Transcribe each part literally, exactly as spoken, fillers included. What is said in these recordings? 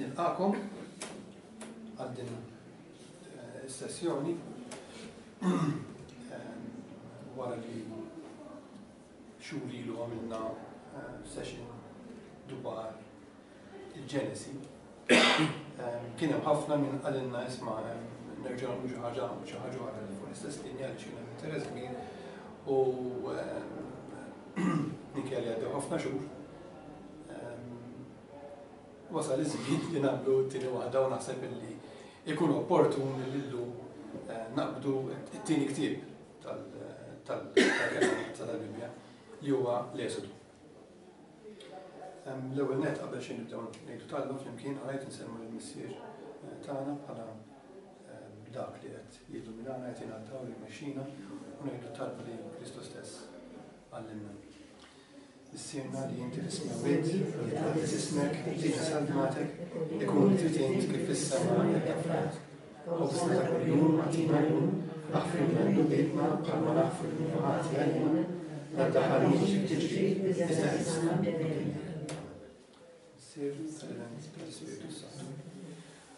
Nilqakom għal din is-sessjoni wara li xhur ilu għamilna session dwar il-Ġenesi. Kien hemm ħafna minn qalilna, "Isma', nerġgħu nagħmlu xi ħaġa xi ħaġa oħra fuq l-istess linja," li kien hemm interess kbir u minkejja li għaddew ħafna xhur, wasal iż-żmien li nagħmlu t-tieni waħda u naħseb illi ikun opportun li llum naqbdu t-tieni ktieb tal-Bibbja, li huwa l-Esodu. L-ewwel net, qabel xejn, nibdew ngħidu talba flimkien, għalajt insellmu lill-Missier tagħna bħala dak li qed jilluminana, qed jingħataw li jmexxina, u ngħidu talba li Kristu stess għallimna. Missierna li inti fis-smewwiet, jitqaddes ismek, tiġi saltnatek, ikun li trid int kif fis-sema hekk fl-art. Ħobżna ta' kuljum agħtina llum, aħfrilna dnubietna bħalma naħfru lil min ħati għalina, la ddaħħalniex f'tiġrib, iżda eħlisna. Missier, tal-Iben, tal-Ispiritu Santu.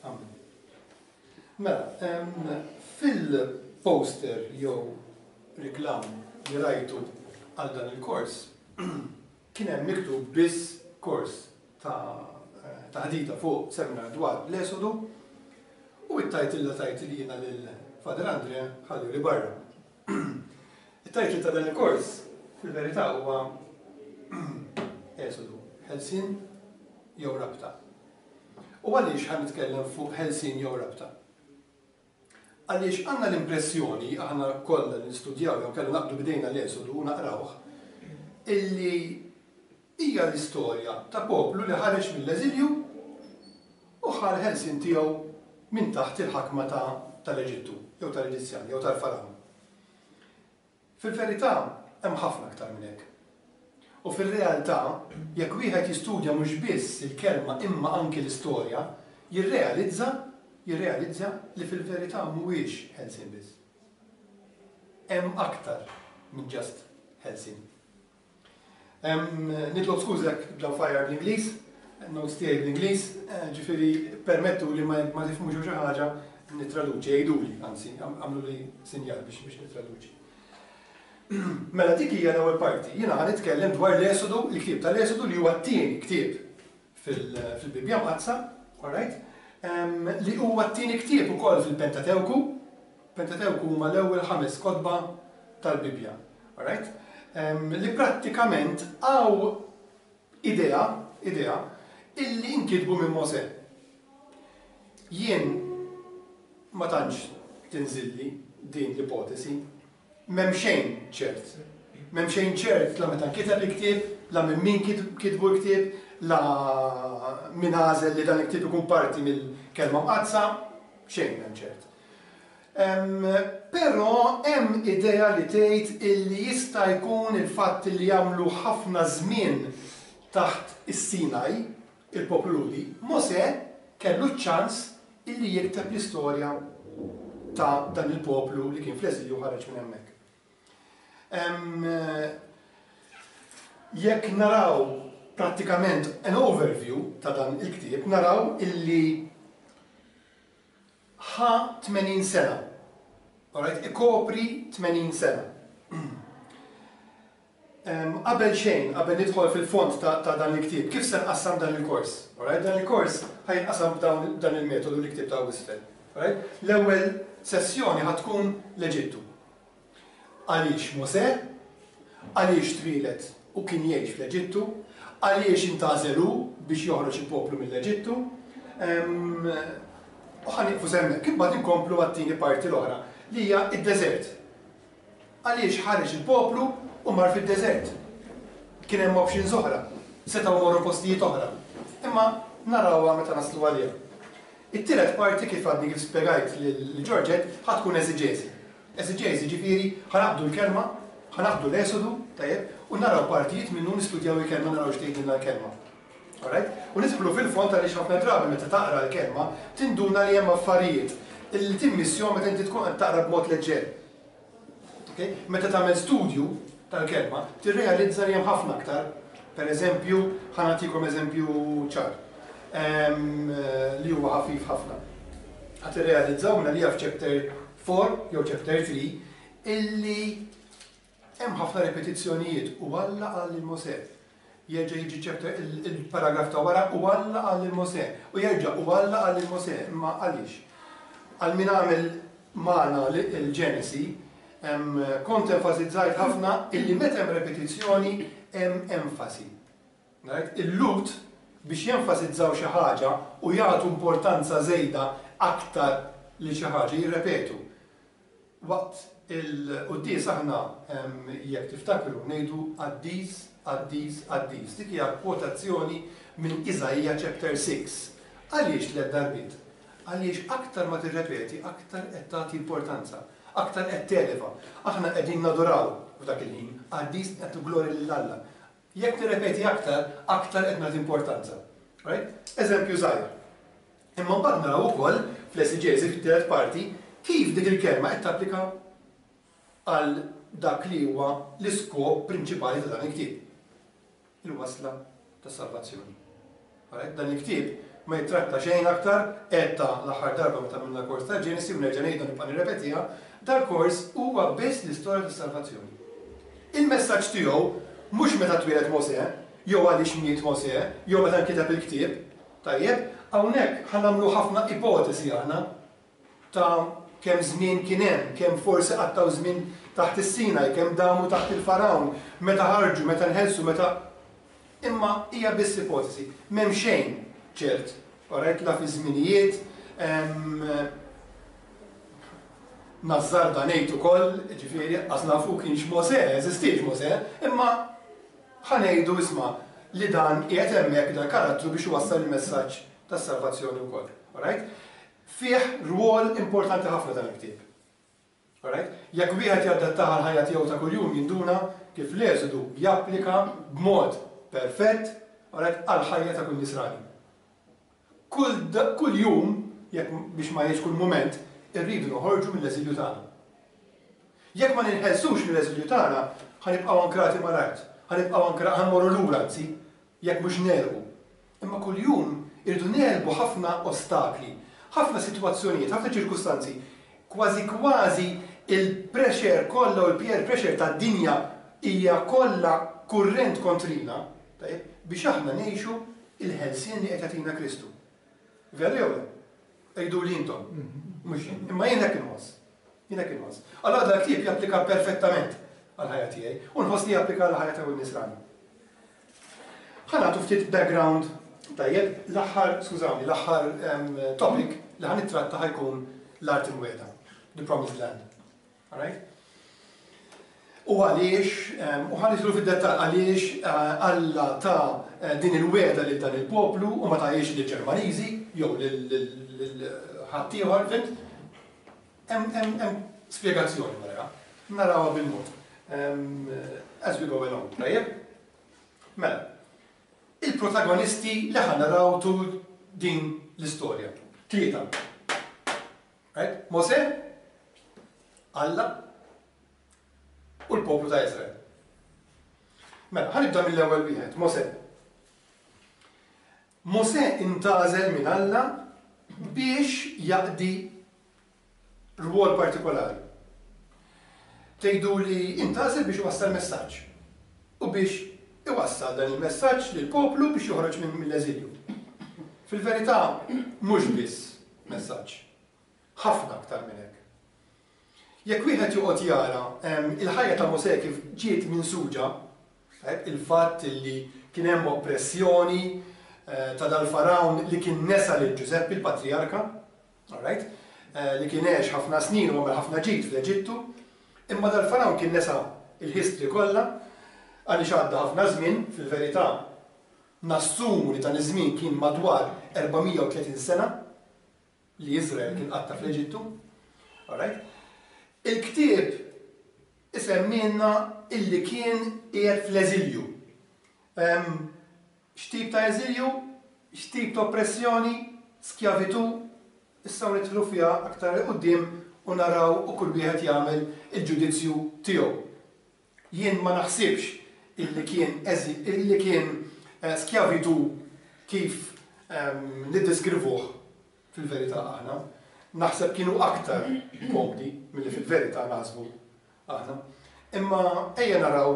Amen. Mela, fil-poster jew reklam li rajtu għal dan il-kors, kien hemm miktub biss kors ta' taħdita fuq seminar dwar l-Esodu u it-title la tajt li jiena lil Father Andre ħalli li barra. It-title ta' dan il-kors fil-verità huwa "Esodu, ħelsien jew rabta". U għaliex ħa nitkellem fuq ħelsien jew rabta? Għaliex għandna l-impressjoni, aħna kollha li nistudjaw jew kellna naqbdu bidejna l-Esodu u naqrawh, illi hija l-istorja ta' poplu li ħareġ mill-eżilju u ħa l-ħelsien tiegħu minn taħt il-ħakma tal-Eġittu, jew tal-Eġizzjani, jew tal-Faraon. Fil-verità hemm ħafna aktar minn hekk. U fil-realtà, jekk wieħed jistudja mhux biss il-kelma imma anki l-istorja, jirrealizza jirrealizza li fil-verità mhuwiex ħelsien biss. Hemm aktar minn just ħelsien. Nitlob skuża jekk bdew fajjar bl-Ingliż, notes tiegħi bl-Ingliż, ġifieri permettu li ma tifhmux xi ħaġa nittraduċi, għiduli, anzi, għamlu li sinjal biex biex nittraduċi. Mela dik hija l-ewwel parti. Jiena ħa nitkellem dwar l-Esodu, il-ktieb tal-Esodu, li huwa t-tieni ktieb fil-Bibbja Mqaddsa, alright? Li huwa t-tieni ktieb ukoll fil-Pentatewku. Pentatewku huma l-ewwel ħames kotba tal-Bibbja, alright? Li prattikament hawn idea, idea, illi inkitbu minn Mosè. Jien ma tantx tinżilli din l-ipotesi, m'hemm xejn ċert. M'hemm xejn ċert la meta nkiteb il-ktieb, la minn min kitbu l-ktieb, la min għażel li dan il-ktieb ikun parti mill-Kelma Mqaddsa, xejn m'hemm ċert. Però hemm idea li tgħid illi jista' jkun il-fatt li jagħmlu ħafna żmien taħt is-Sinaj, il-poplu Lhudi, Mosè kellu ċ-ċans illi jikteb l-istorja ta' dan il-poplu li kien fl-eżilju ħareġ minn hemmhekk. Jekk naraw prattikament an overview ta' dan il-ktieb, naraw illi ħa tmenin sena. Alright, ikopri tmenin sena. Qabel xejn, qabel nidħol fil-fond ta', ta dan il-ktieb, kif se nqassam dan il-kors? Alright, dan il-kors ħa jinqasam b'dan il-metodu li ktieb ta' isfel. Alright? L-ewwel sessjoni ħa tkun l-Eġittu. Għaliex Mosè? Għaliex twieled u kien jgħix fl-Eġittu? Għaliex intgħażel hu biex joħroġ il-poplu mill-Eġittu? U ħa nieqfu s'hemmhekk, imbagħad inkomplu għat-tieni parti l-oħra, li hija id-deżert. Għaliex ħareġ il-poplu u mar fid-deżert? Kien hemm options oħra, setgħu morru postijiet oħra. Imma narawha meta naslu għaliha. It-tielet parti, kif għadni kif spjegajt lil Georgette, ħa tkun eżiġeżi. Eżiġeżi ġifieri ħa naqbdu l-kelma, ħa naqbdu l-Esodu, tajjeb, u naraw partijiet minnu, nistudjaw il-kelma, naraw x'tgħidilna l-kelma. Alright? U nidħlu fil-fond, għaliex ħafna drabi meta taqra l-kelma tinduna li hemm affarijiet li timmissjahom meta inti tkun qed taqra b'mod leġġer. Okay? Meta tagħmel studju tal-kelma, tirrealizza li hemm ħafna aktar. Per eżempju, ħa nagħtikom eżempju ċar. li huwa ħafif ħafna. Ħa tirrealizzaw minna li f'chapter four jew chapter three illi hemm ħafna repetizzjonijiet u Alla qal lil Mosè. Jerġa' jiġi chapter il-paragraf ta' wara u Alla qal lil Mosè. U jerġa' u Alla qal lil Mosè. Imma għaliex? Għal min għamel magħna il-Ġenesi, kont enfasizzajt ħafna illi meta hemm repetizzjoni hemm enfasi. Il-Lhud biex jenfasizzaw xi ħaġa u jagħtu importanza żejda aktar li xi ħaġa jirrepetu. Waqt il-quddies aħna jekk tiftakru ngħidu qaddis, qaddis, qaddis. Dik hija kwotazzjoni minn Iżaija chapter six. Għaliex tliet darbiet? Għaliex aktar ma tirrepeti, aktar qed tagħti importanza, aktar qed televa. Aħna qegħdin naduraw f'dak il-ħin, qaddis qed glorja lil Alla. Jekk tirrepeti aktar, aktar qed nagħti importanza. Right? Eżempju żgħir. Imma mbagħad naraw ukoll fl-esiġeżi fit-tielet parti kif dik il-kelma qed tapplika għal dak li huwa l-iskop prinċipali ta' dan il-ktieb. Il-wasla tas-salvazzjoni. Dan il-ktieb ma jittratta xejn aktar, għedta l-aħħar darba meta għamilna kors ta' Ġenesi u nerġa' ngħidu nibqa' nirrepetiha, dal-kors huwa biss l-istorja tas-salvazzjoni. Il-messaġġ tiegħu mhux meta twieled Mosè, jew għaliex miet Mosè, jew meta nkiteb il-ktieb, tajjeb, hawnhekk ħa nagħmlu ħafna ipotesi aħna ta' kemm żmien kien hemm, kemm forsi qattgħu żmien taħt is-Sinaj, kemm damu taħt il-Farawn, meta ħarġu, meta nħelsu, meta. Imma hija biss ipotesi, m'hemm xejn ċert, alright, la fi żminijiet, nażżarda ngħid ukoll, ġifieri qas nafu kienx Mosè, eżistiex Mosè, imma ħa ngħidu isma' li dan qiegħed hemmhekk dan karattru biex iwassal il-messaġġ tas-salvazzjoni wkoll. Alright? Fih rwol importanti ħafna dan il-ktieb. Alright? Jekk wieħed jadattaha l-ħajja tiegħu ta' kuljum jinduna kif l-Eżodu japplika b'mod perfett, alright, għall-ħajja ta' kull nisrani. Kull, kull jum, jekk biex ma jgħidx kull mument, irridu noħorġu mill-eżilju tagħna. Jekk ma ninħelsux mill-eżilju tagħna, ħa nibqgħu ankrati mal-art, ħa nibqgħu ankrati, ħa nmorru lura anzi, jekk mhux negħrqu. Imma kuljum irridu negħlbu ħafna ostakli, ħafna sitwazzjonijiet, ħafna ċirkustanzi, kważi kważi il-pressure kollha u l-peer pressure tad-dinja hija kollha kurrent kontrina, tajjeb, biex aħna ngħixu il-ħelsien li qed jagħtina Kristu. Veru jew le? Għidu li intom. Mhux jien. Imma jien hekk inħoss. Jien hekk inħoss. Allora dal ktieb japplika perfettament għall-ħajja tiegħi u nħoss li japplika għall-ħajja ta' kull nisrani. Ħa nagħtu ftit background tajjeb, l-aħħar, skużawni, l-aħħar topic li ħa nittratta ħa jkun l-art imwiegħda, the promised land. Alright? U għaliex, u ħa nidħlu fid-dettall għaliex Alla ta din il-wegħda lil dan il-poplu u ma tajiex lill-Ġermaniżi jew lil ħaddieħor, fhimt? Hemm spjegazzjoni wara, narawha bil-mod. As we go along, tajjeb? Mela, il-protagonisti li ħa naraw tul din l-istorja. Tlieta. Right? Mosè, Alla u l-poplu ta' Israel. Mela, ħa nibda mill-ewwel wieħed, Mosè. Mosè intgħażel minn Alla biex jaqdi rwol partikolari. Tgħidu li intgħażel biex iwassal messaġġ u biex iwassal dan il-messaġġ lill-poplu biex joħroġ mill-eżilju. Fil-verità mhux biss messaġġ, ħafna aktar minn hekk. Jekk wieħed joqgħod jara il-ħajja ta' Mosè kif ġiet minsuġa, il-fatt li kien hemm oppressjoni ta' dal-Farawn li kien nesa lil Ġużeppi l-patrijarka, alright, li kien għex ħafna snin u għamel ħafna ġid fl-Eġittu, imma dal-Farawn kien nesa il-history kollha għaliex għadda ħafna żmien, fil-verità nassumu li dan iż-żmien kien madwar erba' mija u tletin sena li Iżrael kien qatta fl-Eġittu. Alright? Il-ktieb isemmilna illi kien qiegħed fl-eżilju. X'tip ta' eżilju? X'tip ta' oppressjoni? Skjavitu? Issa nidħlu fiha aktar 'il quddiem u naraw u kull wieħed jagħmel il-ġudizzju tiegħu. Jien ma naħsibx illi kien illi kien skjavitu kif niddeskrivuh fil-verità aħna. Naħseb kienu aktar komdi milli fil-verità naħsbu aħna. Imma ejja naraw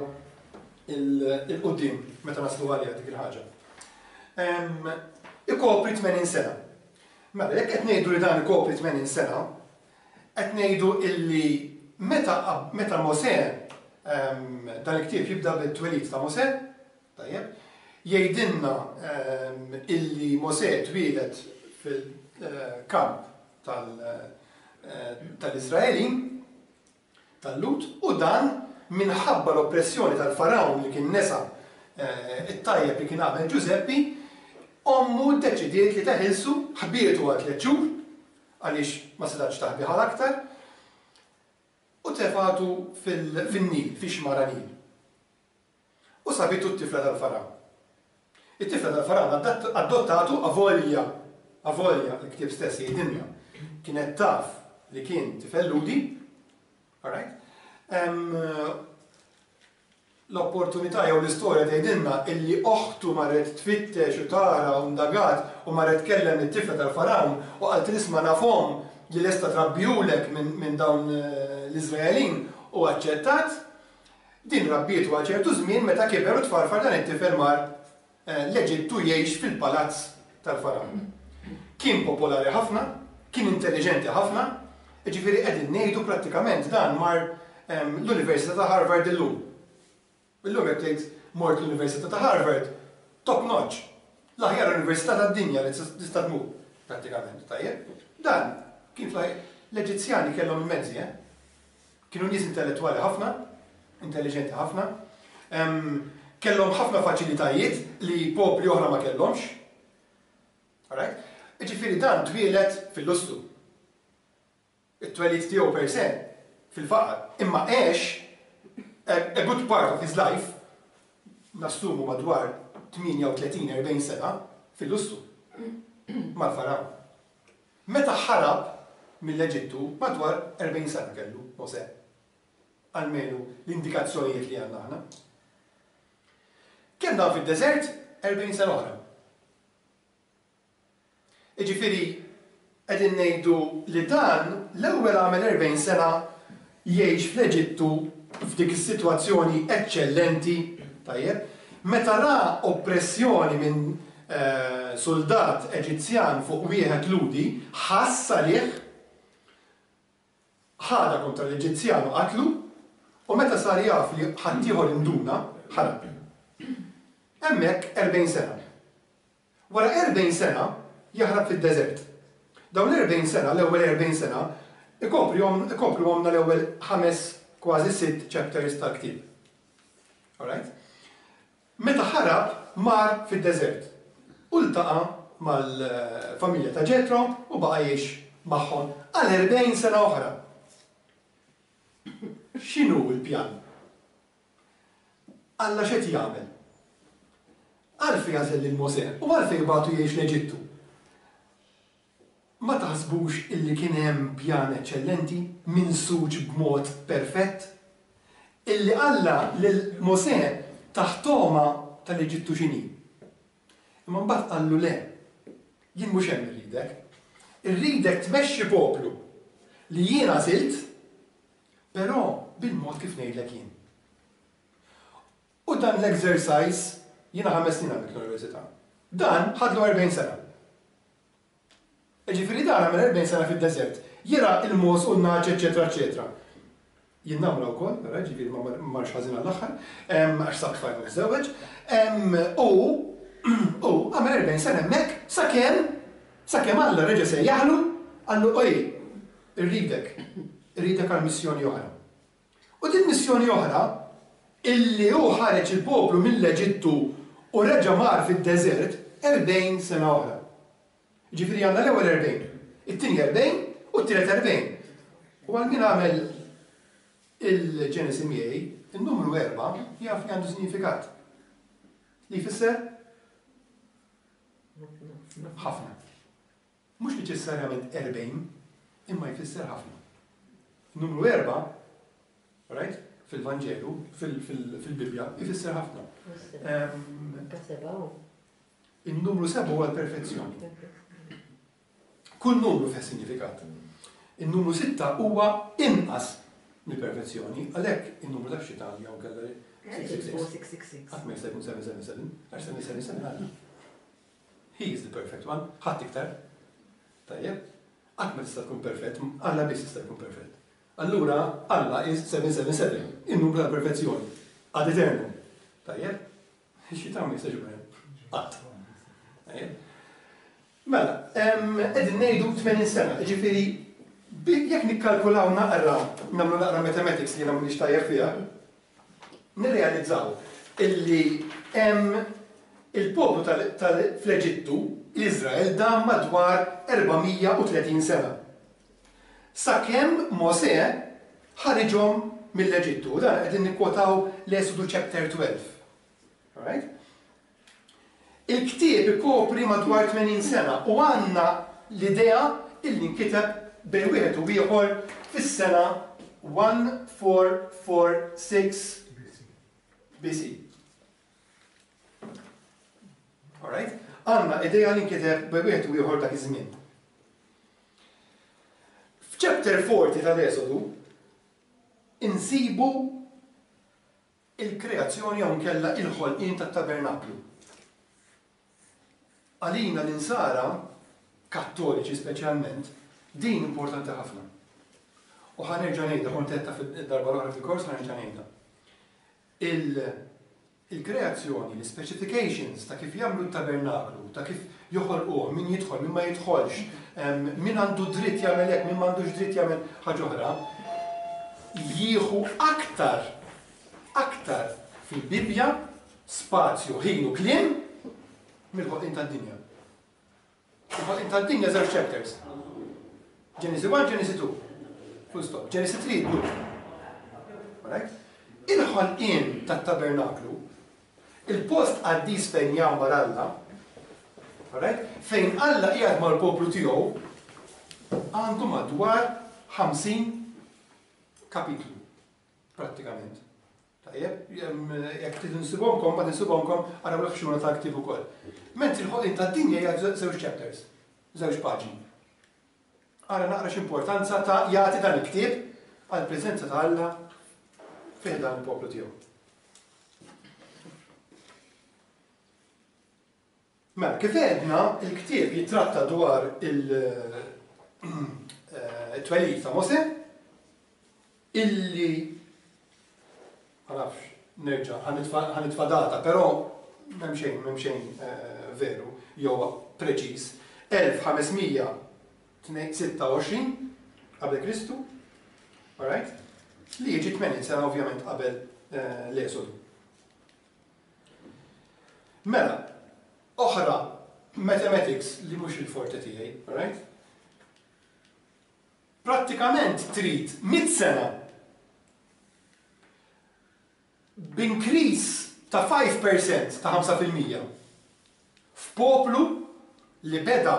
il-qudiem meta naslu għalija dik il-ħaġa. Ikopri tmenin sena. Mela, jekk qed ngħidu li dan ikopri tmenin sena, qed ngħidu illi meta meta Mosè, dan il-ktieb jibda bit-twelid ta' Mosè, tajjeb, jgħidilna illi Mosè twieled fil-kamp tal-Iżraelin, tal-Lhud, u dan minħabba l-oppressjoni tal-Farawn li kien nesa it-tajjeb li kien għamel Ġużeppi, ommu ddeċidiet li teħilsu, ħbietu għal tliet xhur, għaliex ma setgħetx taħbi ħal aktar, u tefatu fin-Nil, fix-xmara Nil. U sabitu t-tifla tal-Farawn. It-tifla tal-Farawn adottatu avolja, avolja l-ktieb stess jgħidilna, kienet taf li kien tifel Lhudi, alright? L-opportunità jew l-istorja tgħidilna illi oħtu marret tfittex u tara u ndagat u marret tkellem it-tifla tal-Farawn u qalt isma' nafhom li lesta trabbihulek minn dawn l-Iżraelin u aċċettat. Din rabbietu għal ċertu żmien, meta kiber u tfarfar dan it-tifel mar l-Eġittu jgħix fil-palazz tal-Farawn. Kien popolari ħafna, kien intelligenti ħafna, jiġifieri qegħdin ngħidu prattikament dan mar l-Università ta' Harvard illum. Illum jekk tgħid mort l-Università ta' Harvard, top notch, l-aħjar università tad-dinja li tista' tmur prattikament, tajjeb. Dan kien l-Eġizzjani kellhom il-mezzi, eh? Kienu nies intellettwali ħafna, intelligenti ħafna, kellhom ħafna faċilitajiet li popli oħra ma kellhomx. Alright? Jiġifieri dan twieled fil-lussu. It-twelid tiegħu per se fil-faqar, imma għex a good part of his life, nassumu madwar tmienja u tletin erbgħin sena fil-lussu mal-Farawn. Meta ħarab mill-Eġittu madwar erbgħin sena kellu Mosè. Almenu l-indikazzjonijiet li għandna aħna. Kemm dam fid-deżert? erbgħin sena oħra. Jiġifieri qegħdin ngħidu li dan l-ewwel għamel erbgħin sena jgħix fl-Eġittu f'dik is-sitwazzjoni eċċellenti, tajjeb, meta ra oppressjoni minn eh, soldat Eġizzjan fuq wieħed Lhudi, ħass għalih, ħadha kontra l-Eġizzjan u qatlu, u meta sar jaf li ħaddieħor induna, ħarab. Hemmhekk erbgħin sena. Wara erbgħin sena jaħrab fid-deżert. Dawn l-erbgħin sena, l-ewwel erbgħin sena, ikopru l-ewwel ħames, kważi sitt chapters tal-ktieb. Alright? Meta ħarab mar fid-deżert. U ltaqa' mal-familja ta' Ġetro u baqa' jgħix magħhom għal erbgħin sena oħra. X'inhu l-pjan? Alla x'qed jagħmel? Għalfejn għażel lil Mosè u għalfejn bagħtu jgħix l-Eġittu? Ma taħsbux illi kien hemm pjan eċċellenti minsuġ b'mod perfett? Illi Alla lil Mosè tah togħma tal-Eġittu x'inhi. Imma mbagħad qallu le, jien mhux hemm irridek. Irridek tmexxi poplu li jien għażilt, però bil-mod kif ngħidlek jien. U dan l-exercise, jiena ħames snin għamilt l-università. Dan ħadlu erbgħin sena. Jiġifieri dan għamel erbgħin sena fid-deżert. Jira il-mogħoż u n-nagħaġ, eċetera, eċetera. Jien namra wkoll, vera, ġifieri ma marx ħażin għall-aħħar, għax sab tfajla miżżewweġ. U u għamel erbgħin sena hemmhekk sakemm sakemm Alla reġa' sejjaħlu, qallu oj, irridek, irridek għal missjoni oħra. U din missjoni oħra, illi hu ħareġ il-poplu mill-Eġittu u reġa' mar fid-deżert erbgħin sena oħra. Ġifieri għandna l-ewwel erbgħin, it-tieni erbgħin u t-tielet erbgħin. U għal min għamel il-Ġenesi miegħi, il-numru erba' jaf li għandu sinifikat. Li jfisser? Ħafna. Mhux neċessarjament erbgħin, imma jfisser ħafna. Numru erba', right? Fil-Vanġelu, fil-Bibja, jfisser ħafna. Ka seba'. Il-numru seba' huwa l-perfezzjoni. Kull numru fih sinifikat. Il-numru sitta huwa inqas mill-perfezzjoni, għalhekk in-numru tax-xitan jew kellha six six six. Qatt ma jista' jkun seven seven seven, għax seven seven seven Alla. He is the perfect one, ħadd iktar. Tajjeb, qatt ma tista' tkun perfett, Alla biss jista' jkun perfett. Allura, Alla is seven seven seven, il-numru tal-perfezzjoni, ad eternum. Tajjeb, ix-xitan ma jistax ikun hemm. Qatt. Tajjeb. Mela, qegħdin ngħidu tmenin sena, ġifieri jekk nikkalkulaw naqra, nagħmlu naqra mathematics li jiena m'iniex tajjeb fiha, nirrealizzaw illi hemm il-poplu fl-Eġittu, l-Izrael, dam madwar erba' mija u tletin sena. Sakemm Mosè ħariġhom mill-Eġittu. Dan qegħdin nikkwotaw l-Esodu chapter twelve. Alright? Il-ktieb ikopri madwar tmenin sena u għandna l-idea illi nkiteb bejn wieħed u ieħor fis-sena fourteen forty-six B C. Alright? Għandna idea li nkiteb bejn wieħed u ieħor dak iż-żmien. F'chapter forty tal-Esodu insibu il-kreazzjoni jew nkella il-ħolqien tat-tabernaklu. Għalina l-insara, kattoliċi speċjalment, din importanti ħafna. U ħa nerġa' ngħidha, kont għedtha fid-darba l-oħra fil-kors, ħa nerġa' ngħidha. Il-kreazzjoni, l-specifications ta' kif jagħmlu t-tabernaklu, ta' kif joħolquh, min jidħol, min ma jidħolx, min għandu dritt jagħmel hekk, min m'għandux dritt jagħmel ħaġa oħra, jieħu aktar aktar fil-Bibja spazju, ħin u kliem mill-ħolqien tad-dinja. Il-ħolqien tad-dinja żewġ chapters. Genesis one, Genesis two. Full stop. Genesis three, blu. Alright? Il-ħolqien tat-tabernaklu, il-post qaddis fejn jgħammar Alla, alright? Fejn Alla qiegħed mal-poplu tiegħu, għandu madwar ħamsin kapitlu, prattikament. Tajjeb, jekk tinsibhomkom, ma tinsibhomkom, araw l-ħxuna tal-ktieb ukoll. Mentri l-ħolqien tad-dinja hija żewġ chapters, żewġ paġni. Ara naqra x'importanza ta' jagħti dan il-ktieb għall-preżenza ta' Alla fih dan il-poplu tiegħu. Mela, kif għedna, il-ktieb jitratta dwar il-twelid ta' Mosè, illi ma nafx, nerġa' ħa nitfa' data, però m'hemm xejn, m'hemm xejn veru jew preċiż, elf ħames mija sitta u għoxrin qabel Kristu, alright? Li jiġi tmenin sena ovvjament qabel l-Esodu. Mela, oħra mathematics li mhux il-forte tiegħi, alright? Prattikament trid mitt sena b'increase ta' five percent, ta' ħamsa fil-mija f'poplu li beda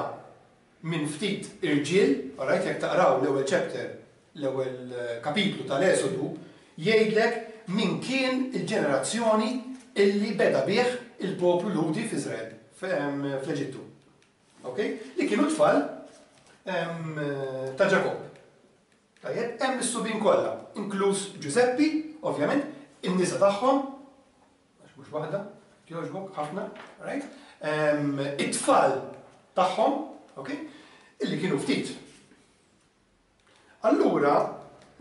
minn ftit irġiel, alright, jekk taqraw l-ewwel chapter, l-ewwel kapitlu tal-Esodu, jgħidlek min kien il-ġenerazzjoni illi beda bih il-poplu Lhudi f'Iżrael, fl-Eġittu. Ok? Li kienu tfal ta' Ġakobb. Tajjeb, hemm is-subien kollha, inkluż Ġużeppi, ovvjament, in-nisa tagħhom, għax mhux waħda, jogħġbok ħafna, right? It-tfal tagħhom, ok? Illi kienu ftit. Allura,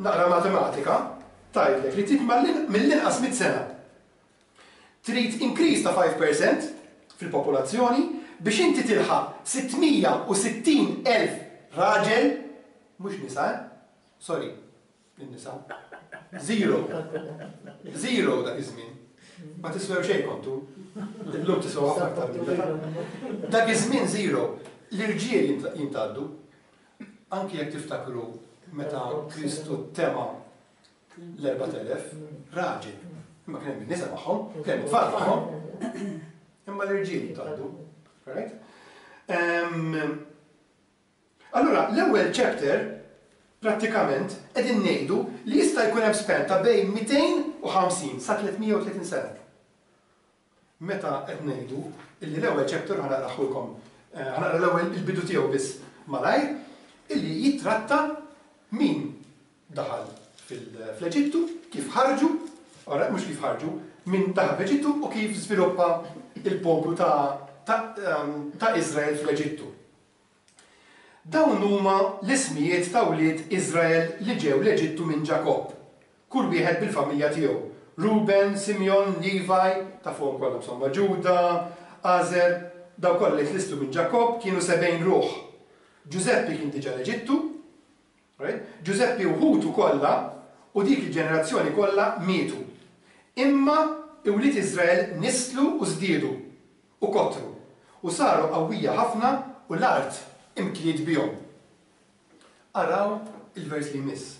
naqra matematika, tgħidlek li trid mill-inqas mitt sena. Trid increase ta' five percent fil-popolazzjoni biex inti tilħaq sitt mija u sittin elf raġel, mhux nisa, eh? Sorry, in-nisa. Zero. Zero dak iż-żmien. Ma tiswew xejn kontu. Illum tiswew ħafna aktar minn dak. Dak iż-żmien zero. L-irġiel jintgħaddu. Anki jekk tiftakru meta Kristu tema l-erbat elef raġel. Imma kien hemm in-nisa magħhom, kien hemm it-tfal magħhom. Imma l-irġiel jintgħaddu. Right? Allura, l-ewwel chapter prattikament qegħdin ngħidu li jista' jkun hemm span ta' bejn mitejn u ħamsin sa tliet mija u tletin sena. Meta qed ngħidu illi l-ewwel chapter, ħa naqrahulkom, ħa naqra l-ewwel il-bidu tiegħu biss malajr, illi jitratta min daħal fl-Eġittu, kif ħarġu, mhux kif ħarġu, min daħal fl-Eġittu u kif żviluppa il-poplu ta' Iżrael fl-Eġittu. Dawn huma l-ismijiet ta' wlied Iżrael li ġew l-Eġittu minn Ġakobb, kull wieħed bil-familja tiegħu. Ruben, Simeon, Levi, ta' fuqhom kollha insomma, Ġuda, Azer, daw kollha li tlistu minn Ġakobb kienu sebgħin ruħ. Ġużeppi kien diġà l-Eġittu, Ġużeppi u ħutu kollha u dik il-ġenerazzjoni kollha mietu. Imma wlied Iżrael nislu u żdiedu u kotru u saru qawwija ħafna u l-art imtliet bihom. Araw il-vers li jmiss.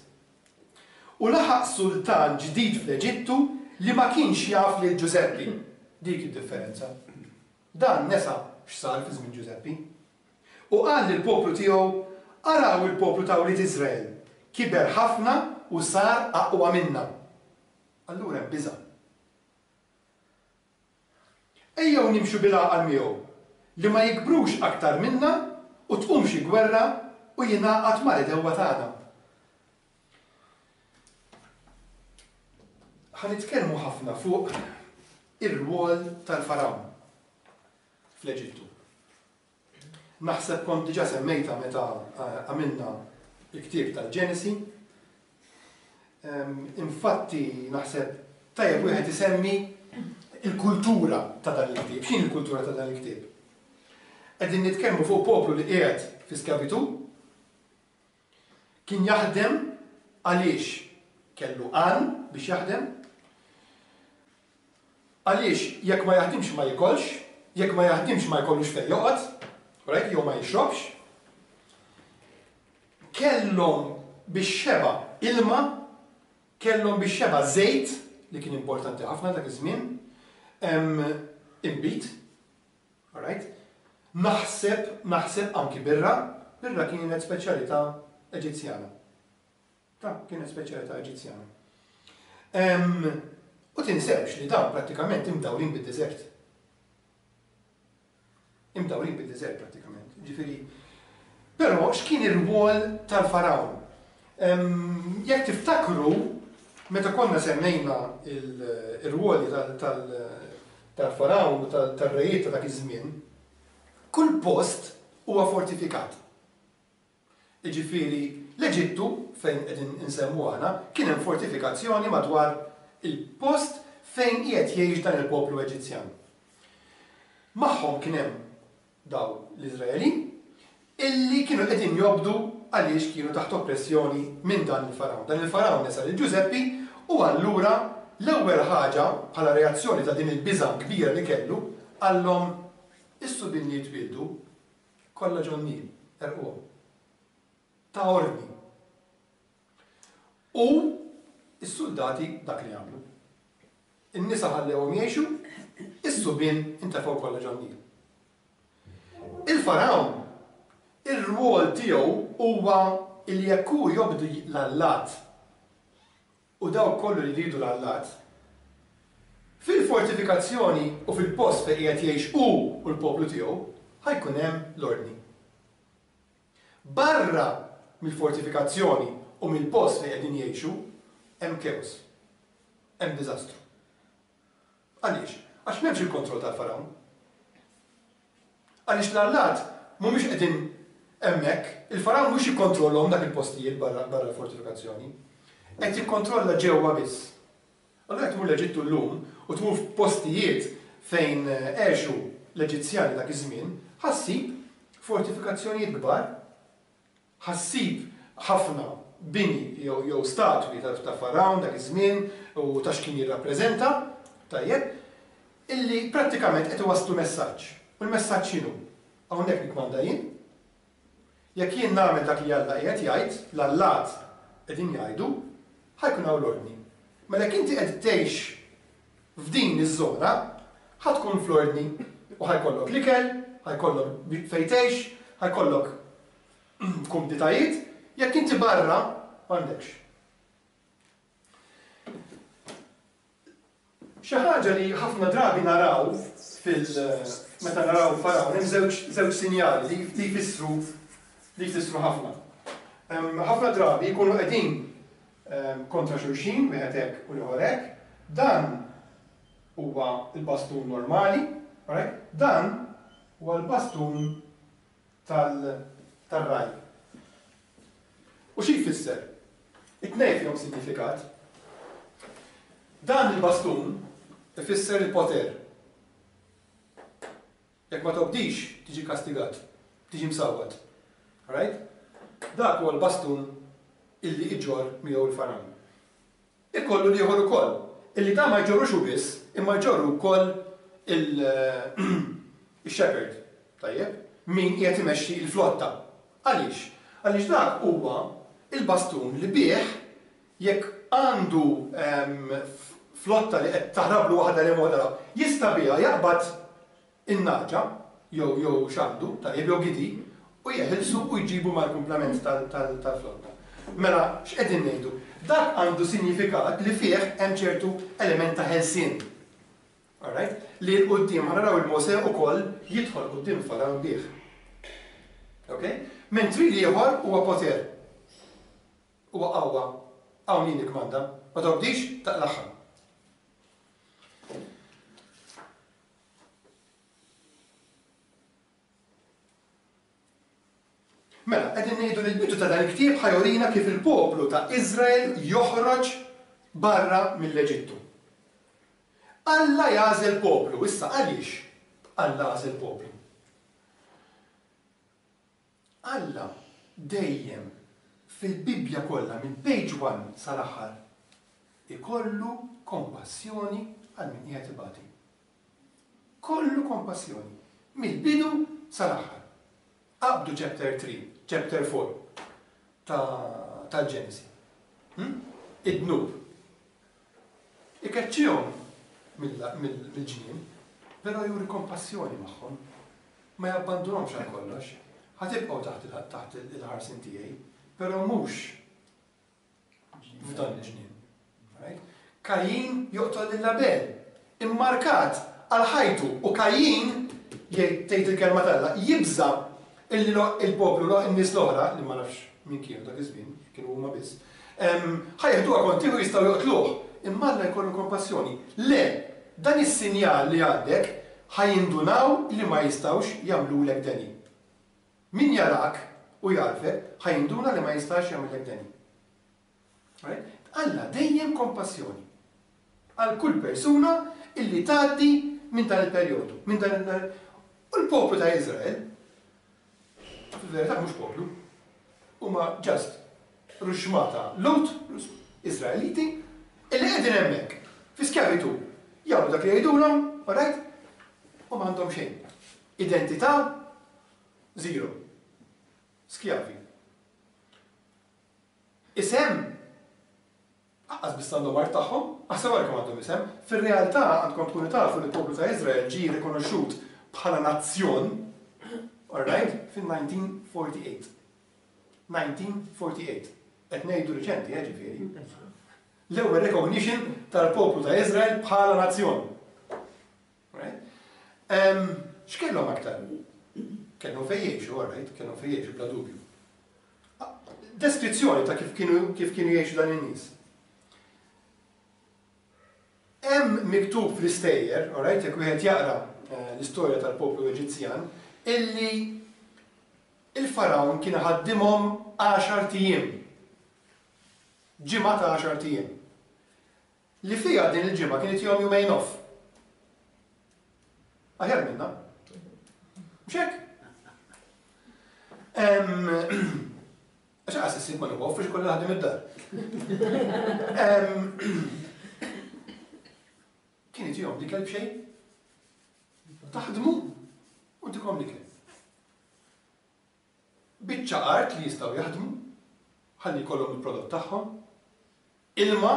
U laħaq sultan ġdid fl-Eġittu li ma kienx jaf lil Ġużeppi. Dik id-differenza. Dan nesa x'sar fi żmien Ġużeppi. U qal lill-poplu tiegħu, araw il-poplu ta' wlied Iżrael, kiber ħafna u sar aqwa minna. Allura hemm biża'. Ejjew nimxu bil-għaqal miegħu, li ma jikbrux aktar minna u tqum xi gwerra u jingħaqad mal-idewwa tagħna. Ħa nitkellmu ħafna fuq ir-rwol tal-Farawn fl-Eġittu. Naħseb kont diġà semmejta meta għamilna il-ktieb tal-Ġenesi. Infatti naħseb tajjeb wieħed isemmi il-kultura ta' dan il-ktieb. X'inhi l-kultura ta' dan il-ktieb? Qegħdin nitkellmu fuq poplu li qiegħed fi skjavitu, kien jaħdem għaliex kellu għan biex jaħdem, għaliex jekk ma jaħdimx ma jikolx, jekk ma jaħdimx ma jkollux fejn joqgħod, right, jew ma jixrobx. Kellhom biex xeba ilma, kellhom biex xeba żejt, li kien importanti ħafna dak iż-żmien, inbid, right? Naħseb, naħseb anki birra, birra kienet speċjalità Eġizzjana. Ta' kienet speċjalità Eġizzjana. U tinsewx li dawn prattikament imdawrin bid-deżert. Imdawrin bid-deżert prattikament. Ġifieri, però x'kien ir-rwol tal-Farawn? Jekk tiftakru, meta konna semmejna ir-rwoli tal-Farawn u tal-rejiet ta' dak iż-żmien, kull post huwa fortifikat. Jiġifieri l-Eġittu, fejn qegħdin insemmu aħna, kien hemm fortifikazzjoni madwar il-post fejn qiegħed jgħix dan il-poplu Eġizzjan. Magħhom kien hemm daw l-Iżraelin illi kienu qegħdin jobdu għaliex kienu taħt oppressjoni minn dan il-Farawn. Dan il-Farawn nesa lil Ġużeppi u allura l-ewwel ħaġa bħala reazzjoni ta' din il-biża' kbira li kellu qallhom is-subien li jitwieldu kollha ġon-Nil, erquhom. Ta' ordni. U s-soldati dak li għamlu. In-nisa ħallewhom jgħixu, is-subien intefgħu kollha ġon-Nil. Il-Farawn, ir-rwol tiegħu huwa li jekk hu jobdu l-allat u dawk kollu li jridu l-allat, fil-fortifikazzjoni u fil-post fejn qiegħed jgħix hu u l-poplu tiegħu ħajkun hemm l-ordni. Barra mill-fortifikazzjoni u mill-post fejn qegħdin jgħixu hemm chaos, hemm diżastru. Għaliex? Għax m'hemmx il-kontroll tal-Farawn. Għaliex l-allat mhumiex qegħdin hemmhekk, il-Farawn mhux jikkontrollhom dak il-postijiet barra l-fortifikazzjoni. Qed jikkontrolla ġewwa biss. Allura jekk tmur l-Eġittu llum u tmur f'postijiet fejn għexu l-Eġizzjani dak iż-żmien, ħassib fortifikazzjonijiet kbar, ħassib ħafna bini jew statwi ta' Farawn dak iż-żmien u ta' x'kien jirrappreżenta, tajjeb, illi prattikament qed iwasslu messaġġ. U l-messaġġ x'inhu? Hawnhekk nikkmanda jien. Jekk jien nagħmel dak li Alla qiegħed jgħid, l-allat qegħdin jgħidu, ħajkun hawn l-ordni. Mela jekk inti qed tgħix f'din iż-żona, ħa tkun fl-ordni u ħajkollok l-ikel, ħajkollok fejn tgħix, ħajkollok kumditajiet, jekk inti barra m'għandekx. Xi ħaġa li ħafna drabi naraw fil meta naraw Faraon hemm żewġ żewġ sinjali li jfissru li jfissru ħafna. Ħafna drabi jkunu qegħdin kontra xulxin, wieħed hekk u l-ieħor hekk. Dan huwa l-bastun normali, right? Dan huwa l-bastun tal-raj. U xi jfisser? It-tnejn fihom sinifikat. Dan il-bastun ifisser il-poter. Jekk ma tobdix, tiġi kastigat, tiġi msawwat. Right? Dak huwa l-bastun illi iġorr miegħu l-Faraon. Ikollu l-ieħor ukoll, illi ta' ma jġorrux hu biss, imma jġorru wkoll il-shepherd, tajjeb, min qiegħed imexxi l-flotta. Għaliex? Għaliex dak huwa il-bastun li bih jekk għandu flotta li qed taħrablu waħda li waħda, jista' biha jaqbad in-naġa jew jew x'għandu, tajjeb, jew gidi, u jeħilsu u jġibu mal-kumplament tal-flotta. Mela, x'qegħdin ngħidu? Dak għandu sinifikat li fih hemm ċertu element ta' ħelsien. Alright? Li l-quddiem ħa naraw il-Mosè ukoll jidħol quddiem Faraon bih. Okay? Mentri l-ieħor huwa poter. Huwa qawwa. Hawn jien nikkmanda. Ma tobdix taqlaħħa. Mela, qegħdin ngħidu li l-bidu ta' dan il-ktieb ħa jurina kif il-poplu ta' Iżrael joħroġ barra mill-Eġittu. Alla jagħżel poplu, issa għaliex Alla għażel poplu? Alla dejjem fil-Bibbja kollha minn page one sal-aħħar ikollu kompassjoni għal min qiegħed ibati. Kollu kompassjoni mill-bidu sal-aħħar. Qabdu chapter three, chapter four tal-Ġenesi. Id-dnub. Ikeċċihom mill-ġnien, però juri kompassjoni magħhom. Ma jabbandunhomx għal kollox. Ħa tibqgħu taħt il-ħarsin tiegħi, però mhux f'dan il-ġnien. Kajin joqtol lil Abel, immarkat għal ħajtu, u Kajin, tgħid il-kelma t'Alla, jibża' illi il-poplu, in-nies l-oħra, li ma nafx min kienu dak iż-żmien, kienu huma biss, ħa jeħduha kontiħu jistgħu joqtluh. Imma Alla jkollu kompassjoni. Le, dan is-sinjal li għandek ħa jindunaw li ma jistgħux jagħmlulek deni. Min jarak u jarfek ħa jinduna li ma jistax jagħmellek deni. Alla dejjem kompassjoni għal kull persuna illi tgħaddi minn dan il-perjodu, minn dan il U l-poplu ta' Iżrael, fil-verità mhux poplu, huma ġast ruxmata Lut, Iżraeliti, illi qegħdin hemmhekk fi skjavitu, jagħmlu dak li jgħidulhom, alright? U m'għandhom xejn. Identità zero. Skjavi. Isem aqqas biss għandhom art tagħhom, aħseb wara kemm għandhom isem. Fir-realtà għandkom tkunu tafu li l-poplu ta' Iżrael ġie rikonoxxut bħala nazzjon, alright, fin-nineteen forty-eight. nineteen forty-eight. Qed ngħidu riċenti, eh, ġifieri. L-ewwel recognition tal-poplu ta' Iżrael bħala nazzjon. X'kellhom aktar? Kellhom fejn jgħixu, alright, kellhom fejn jgħixu bla dubju. Deskrizzjoni ta' kif kienu kif kienu jgħixu dan in-nies. Hemm miktub fl-istejjer, alright, jekk wieħed jaqra l-istorja tal-poplu Eġizzjan, illi il-Faraon kien ħaddimhom għaxar ijiem. Ġimgħa ta' għaxar ijiem. Li fiha din il-ġimgħa kienet jom jumejn off. Aħjar minna. Mhux hekk? Għax qas issib ma nieħu off biex ikollha ħadim id-dar. Kienet jom l-ikel b'xejn? Taħdmu u ntikom l-ikel. Biċċa art li jistgħu jaħdmu, ħalli jkollhom il-prodott tagħhom, ilma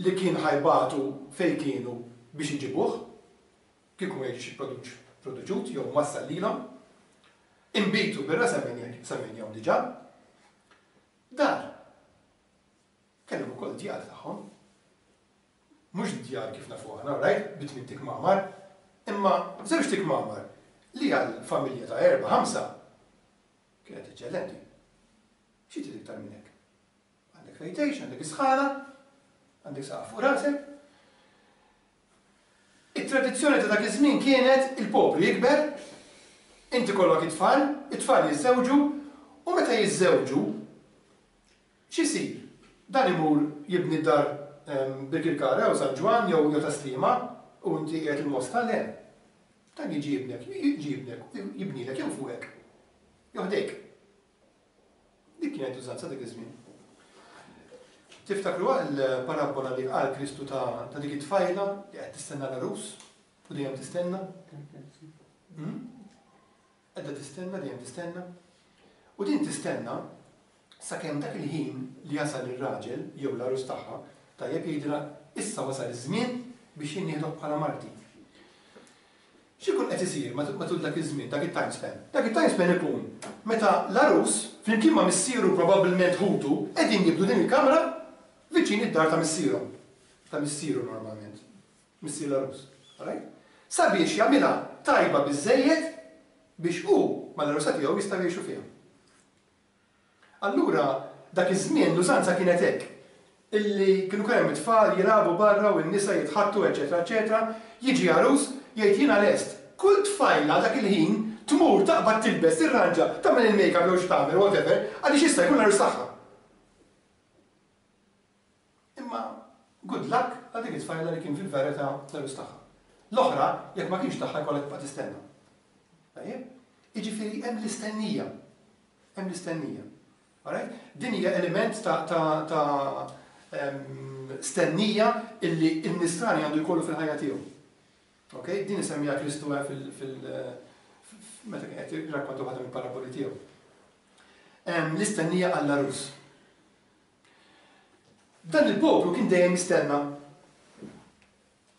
li kien ħajbatu fejn kienu biex iġibuh, kieku ma jiġix produċut jew wassal lilhom, inbitu birra semmejnihom diġà, dar. Kellhom ukoll djar tagħhom. Mhux djar kif nafu aħna, right? Bi tmien tikmamar, imma żewġ tikmamar li għal familja ta' erba' ħamsa kienet eċċellenti. Xi trid iktar minn hekk? Għandek fejn tgħix, għandek isħana, għandek saqaf fuq rasek. It-tradizzjoni ta' dak iż-żmien kienet il-poplu jikber, inti kollok it-tfal, it-tfal jiżżewġu, u meta jiżżewġu, x'isir? Dan imur jibni d-dar Birkirkara jew San Ġwann jew jew Tas-Sliema u inti qiegħed il-Mosta, le. Dan jiġi jibnek, jiġi jibnek, jibnilek jew fuqek, jew ħdejk. Dik kienet użanza dak iż-żmien. Tiftakru l-parabbola li qal Kristu ta' dik it-tfajla li qed tistenna l-għarus u dejjem tistenna? Qiegħda tistenna, dejjem tistenna. U din tistenna sakemm dak il-ħin li jasal ir-raġel jew l-għarus tagħha, tajjeb jgħidilha issa wasal iż-żmien biex jien nieħdok bħala marti. X'ikun qed isir matul dak iż-żmien, dak it-time span? Dak it-time span ikun meta l-għarus flimkien ma' missieru probabbilment ħutu qegħdin jibdu din il-kamra viċin id-dar ta' missierhom. Ta' missieru normalment. Missier l-għarus. Alright? Sabiex jagħmilha tajba biżżejjed biex hu mal-għarusa tiegħu jistgħu jgħixu fiha. Allura dak iż-żmien l-użanza kienet hekk, illi kienu kemm hemm it-tfal jilagħbu barra u n-nisa jitħattu eċetera eċetera, jiġi għarus jgħid jiena lest. Kull tfajla dak il-ħin tmur taqbad tilbes, tirranġa, tagħmel il-makeup jew x'tagħmel whatever, għaliex jista' jkun l-għarus tagħha. Imma good luck għal dik it-tfajla li kien fil-verità l-għarus tagħha. L-oħra, jekk ma kienx tagħha jkollha tibqa' tistenna. Tajjeb? Jiġifieri hemm l-istennija. Hemm l-istennija. Alright? Din hija element ta' ta' ta' stennija illi n-nisrani għandu jkollu fil-ħajja tiegħu. Okay? Din isemmija Kristu fil, fil, meta kien qed jirrakkonta waħda mill-paraboli tiegħu. L-istennija għall-għarus. Dan il-poplu kien dejjem jistenna.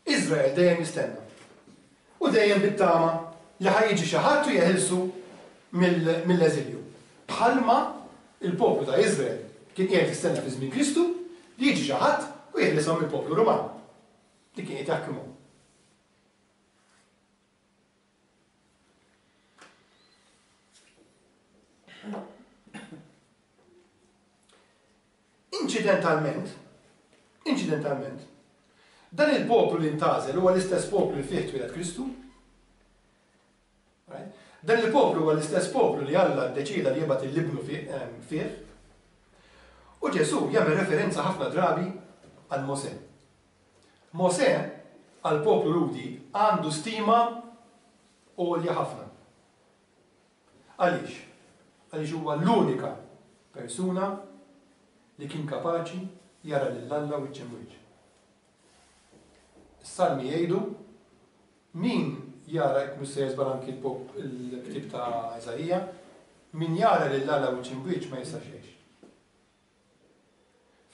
Iżrael dejjem jistenna. U dejjem bit-tama li ħa jiġi xi ħadd u jeħilsu mill-eżilju. Bħalma il-poplu ta' Iżrael kien qiegħed jistenna fi żmien Kristu li jiġi xi ħadd u jeħlishom mill-poplu Ruman li kien qed jaħkimhom. Inċidentalment, inċidentalment, dan il-poplu li ntgħażel huwa l-istess poplu li fih twieled Kristu. Right? Dan il-poplu huwa l-istess poplu li Alla ddeċida li jibgħat il-libnu fih. U Ġesù jagħmel referenza ħafna drabi għal Mosè. Mosè għal poplu Lhudi għandu stima għolja ħafna. Għaliex? Għaliex huwa l-unika persuna li kien kapaċi jara lil Alla wiċċ imwiċċ. Is-salmi jgħidu min jara, jekk mhux se jeżbal anki l-ktieb ta' Iżaija, min jara lil Alla wiċċ imwiċċ ma jistax jgħix.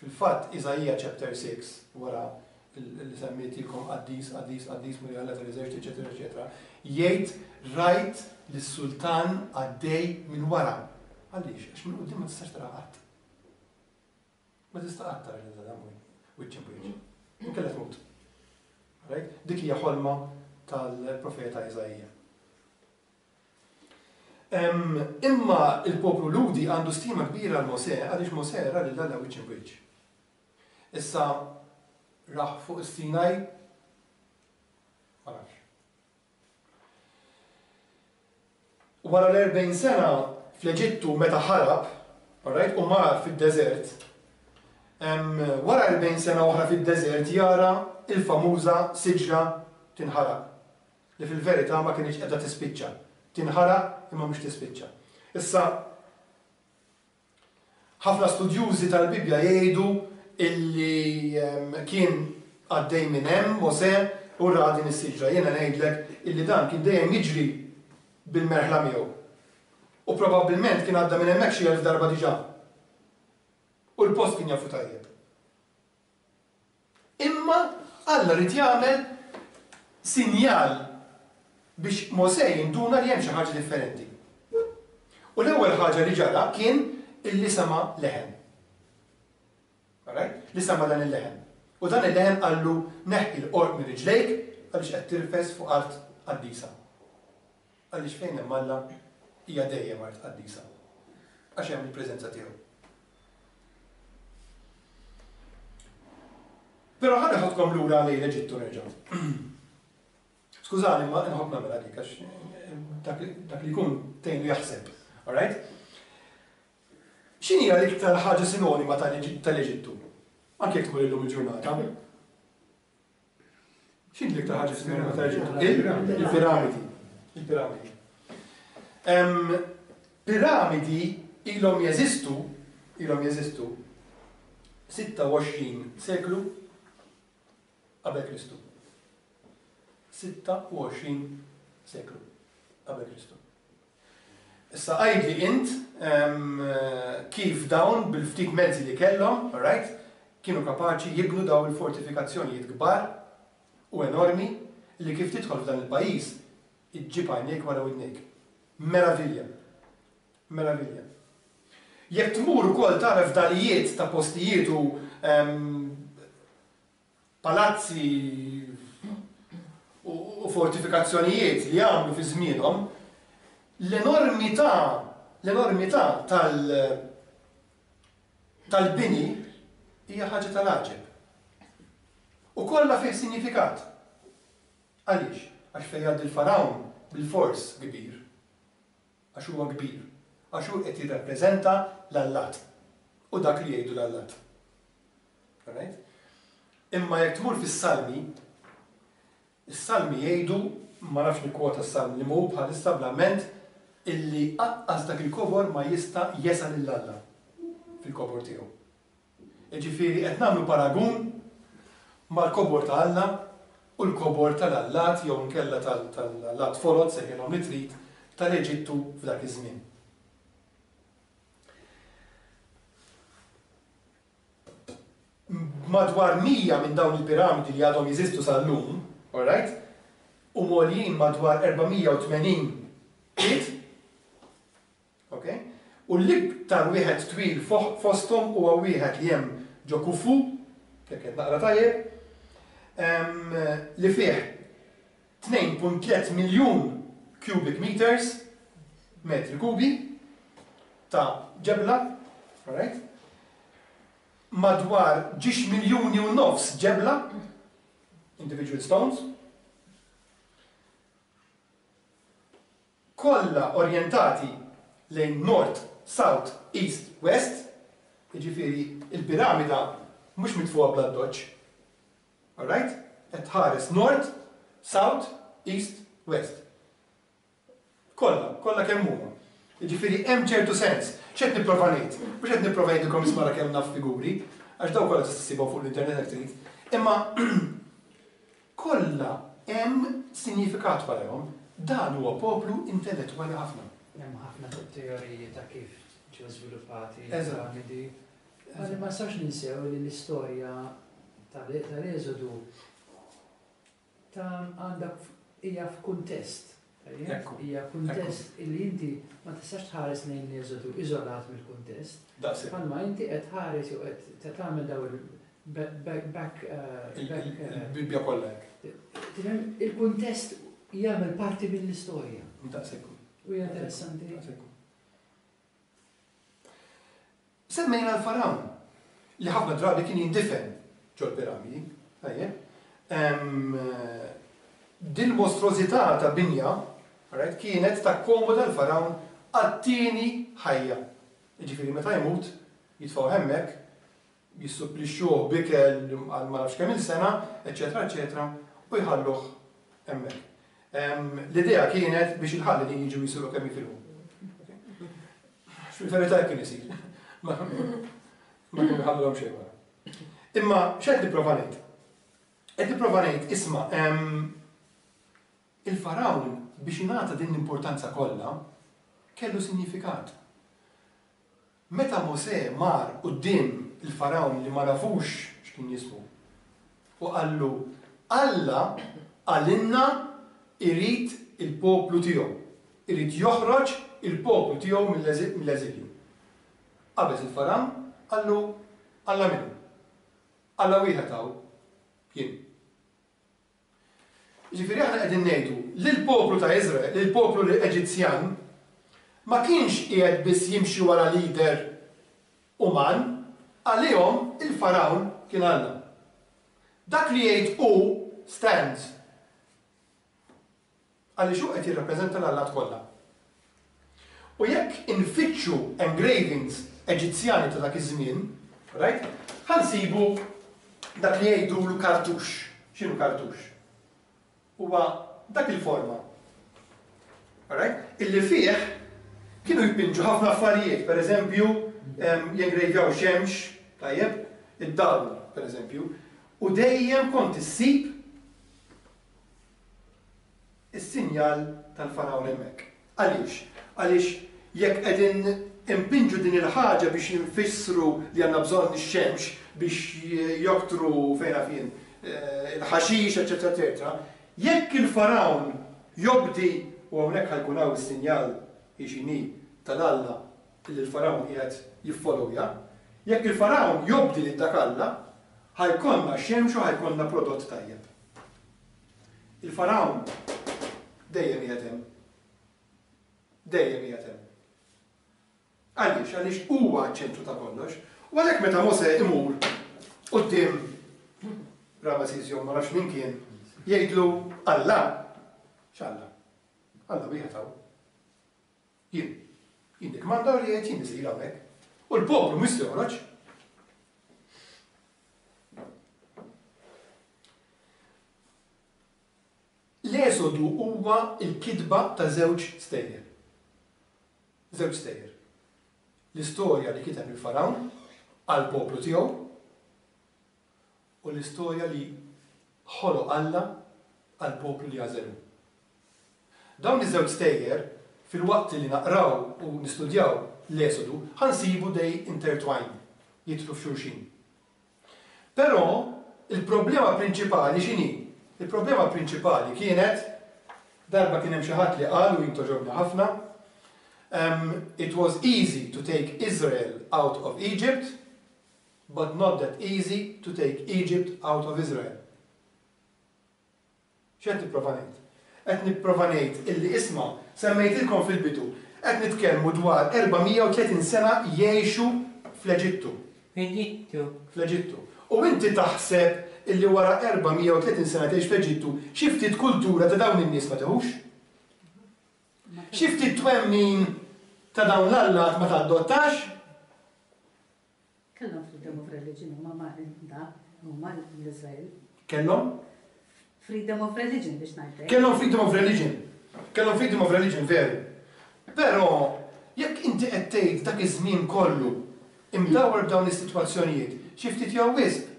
Fil-fatt Iżaija chapter six, wara li semmitilkom qaddis, qaddis, qaddis, Mulej Alla tal-eżerċti, eċetera, eċetera, jgħid rajt lis-sultan għaddej minn wara. Għaliex? Għax minn quddiem ma tistax tara qatt. Ma tista' qatt tara lil Alla wiċċ imwiċċ. Inkella tmut. Right? Dik hija ħolma tal-profeta Iżaija. Imma il-poplu Lhudi għandu stima kbira għal Mosè għaliex Mosè ra lil Alla wiċċ imwiċċ. Issa raħ fuq is-Sinaj ma nafx. Wara l-erbgħin sena fl-Eġittu meta ħarab, alright, u mar fid-deżert, wara erbgħin sena oħra fid-deżert jara il-famuża siġra tinħaraq, li fil-verità ma kienx qiegħda tispiċċa. Tinħaraq imma mhux tispiċċa. Issa ħafna studjużi tal-Bibbja jgħidu illi kien għaddej minn hemm Mosè u ra din is-siġra. Jiena ngħidlek illi dan kien dejjem jiġri bil-merħla miegħu. U probabbilment kien għadda minn hemmhekk xi elf darba diġà. U l-post kien jafu tajjeb. Imma Alla rid jagħmel sinjal biex Mosè jinduna li hemm xi ħaġa differenti. U l-ewwel ħaġa li ġara kien illi sema leħen. Alright? Li sema dan il-leħen. U dan il-leħen qallu neħħi l-qorq minn riġlejk għaliex qed tirfes fuq art qaddisa. Għaliex fejn hemm Alla hija dejjem art qaddisa. Għax hemm il-preżenza tiegħu. Però ħa neħodkom lura lejn l-Eġittu nerġa'. Skużani, ma nħobb nagħmel dik għax dak li jkun tgħinu jaħseb. All right? X'inhi l-iktar ħaġa sinonima tal-Eġittu? Anke jekk tmur illum il-ġurnata. X'inhi l-iktar ħaġa sinonima tal-Eġittu? Il-piramidi. Il-piramidi. Piramidi ilhom jeżistu, ilhom jeżistu sitta u għoxrin seklu qabel Kristu. sitta u għoxrin seklu qabel Kristu. Issa għidli int kif dawn bil-ftit mezzi li kellhom, all right, kienu kapaċi jibnu dawn il-fortifikazzjonijiet kbar u enormi li kif tidħol f'dan il-pajjiż iġġib għajnejk wara widnejk. Meravilja. Meravilja. Jekk tmur ukoll tara fdalijiet ta' postijiet u palazzi u fortifikazzjonijiet li għamlu fi żmienhom, l-enormità, l-enormità tal- tal-bini hija ħaġa tal-għaġeb. U kollha fih sinifikat. Għaliex? Għax fejn jgħaddi l-farawn bil-fors kbir. Għax huwa kbir. Għax hu qed jirrappreżenta l-allat. U dak li jgħidu l-allat. Alright? Imma jekk tmur fis-Salmi, is-Salmi jgħidu, ma nafx nikkwota s-Salm li mhu bħalissa bl-amment, illi aqqas dak il-kobor ma jista' jesa lil Alla fil-kobor tiegħu. Jiġifieri qed nagħmlu paragun mal-kobor ta' Alla u l-kobor tal-allat jew nkella tal-allat folot sejħilhom li trid tal-Eġittu f'dak iż-żmien. Madwar mija minn dawn il-piramidi li għadhom jeżistu sal-lum, all right, u għoljin madwar erba' mija u tmenin pied, okay? U l-iktar wieħed twil fosthom huwa wieħed li hemm ġo Khufu, jekk qed naqra tajjeb, li fih tnejn punt tliet miljun cubic meters, metri kubi, ta' ġebla, all right? Madwar ġiex miljuni u nofs ġebla, individual stones, kollha orjentati lejn north, south, east, west, jiġifieri il-piramida mhux mitfuha bl-addoċċ. All right? Qed tħares north, south, east, west. Kollha, kollha kemm huma. Jiġifieri hemm ċertu sens. X'qed nipprova ngħid? Mhux qed nipprova ngħidilkom isma' kemm naf figuri, għax dawn kollha tista' ssibhom fuq l-internet jekk trid. Imma kollha hemm sinifikat warahom. Dan huwa poplu intellettwali ħafna. Hemm ħafna teoriji ta' kif ġew żviluppati l-piramidi. Ma nistgħux ninsew li l-istorja tal-Eżodu ta' għandha hija f'kuntest. Hija kuntest illi inti ma tistax tħares lejn l-Eżodu iżolat mill-kuntest. Bħalma inti qed tħares jew qed tagħmel daw il-back il-Bibbja kollha hekk. Tifhem, il-kuntest jagħmel parti mill-istorja. Daqshekk. U hija interessanti. Semmejna l-farawn li ħafna drabi kien jindifen ġol-piramidi. Din mostrużità ta' binja, right, kienet takkomoda l-farawn għat-tieni ħajja. Jiġifieri meta jmut, jitfgħu hemmhekk, jissupplixxuh b'ikel għal ma nafx kemm il-sena, eċetera, eċetera, u jħalluh hemmhekk. L-idea kienet biex il-ħallelin jiġu jisiru kemm jifilħu. Fil-verità kien isir. Ma kienu jħallulhom xejn wara. Imma x'qed nipprova ngħid? Qed nipprova ngħid, isma', il-farawn biex jingħata din l-importanza kollha kellu sinifikat. Meta Mosè mar quddiem il-farawn li ma nafux x'kien jismu u qallu Alla qalilna irid il-poplu tiegħu, irid joħroġ il-poplu tiegħu mill-eżilju. Qabeż il-farawn qallu Alla minnu? Alla wieħed hawn, Jien. Ġifieri aħna qegħdin ngħidu li l-poplu ta' Iżrael, li l-poplu Eġizzjan ma kienx qiegħed biss jimxi wara leader uman, għalihom il-Farawn kien Alla. Dak li jgħid hu stands. Għaliex hu qed jirrappreżenta l-allat kollha. U jekk infittxu engravings Eġizzjani ta' dak iż-żmien, right? Ħa nsibu dak li jgħidulu cartouche. X'inhu cartouche? Huwa dak il-forma. Alright? Illi fih kienu jpinġu ħafna affarijiet, per eżempju, jengrejvjaw xemx, tajjeb, id-dawl, per eżempju, u dejjem kont issib is-sinjal tal-farawn hemmhekk. Għaliex? Għaliex jekk qegħdin impinġu din il-ħaġa biex jinfissru li għandna bżonn ix-xemx biex joktru fejn fien il-ħaxix, eċetera, eċetera. Jekk il-farawn jobdi, u hawnhekk ħa jkun hawn is-sinjal ixini tal-Alla li l-farawn qiegħed jiffollowja, jekk il-farawn jobdi lil dak Alla, ħa jkollna xemx u ħa jkollna prodott tajjeb. Il-farawn dejjem qiegħed hemm. Dejjem qiegħed hemm. Għaliex, għaliex huwa ċ-ċentru ta' kollox. U għalhekk meta Mosè imur quddiem Ramesses jew ma nafx min kien, jgħidlu Alla, x'Alla? Alla wieħed hawn. Jien. Jien nikkmanda u li jgħid jien isir hawnhekk. U l-poplu mhux se joħroġ. L-Esodu huwa l-kitba ta' żewġ stejjer. Żewġ stejjer. L-istorja li kiteb il-Farawn għall-poplu tiegħu u l-istorja li ħoloq Alla għall-poplu li għażelu. Dawn iż-żewġ stejjer fil-waqt li naqraw u nistudjaw l-Esodu ħa nsibu they intertwine, jidħlu f'xulxin. Però il-problema prinċipali x'inhi? Il-problema prinċipali kienet, darba kien hemm xi ħadd li qal u jien toġobni ħafna, um, it was easy to take Israel out of Egypt, but not that easy to take Egypt out of Israel. X'qed nipprova ngħid? Qed nipprova ngħid illi isma' semmejtilkom fil-bidu, qed nitkellmu dwar erba' mija u tletin sena jgħixu fl-Eġittu. Fl-Eġittu. Fl-Eġittu. U inti taħseb illi wara erba' mija u tletin sena tgħix fl-Eġittu, xi ftit kultura ta' dawn in-nies ma teħux? Xi ftit twemmin ta' dawn l-allat ma tadottax? Kellhom freedom of religion huma ma da huma l-Iżrael. Kellhom? Freedom of religion biex ngħidlek. Kellhom freedom of religion. Kellhom freedom of religion veru. Però jekk inti qed tgħid dak iż-żmien kollu imdawwar b'dawn is-sitwazzjonijiet, xi ftit jew wisq.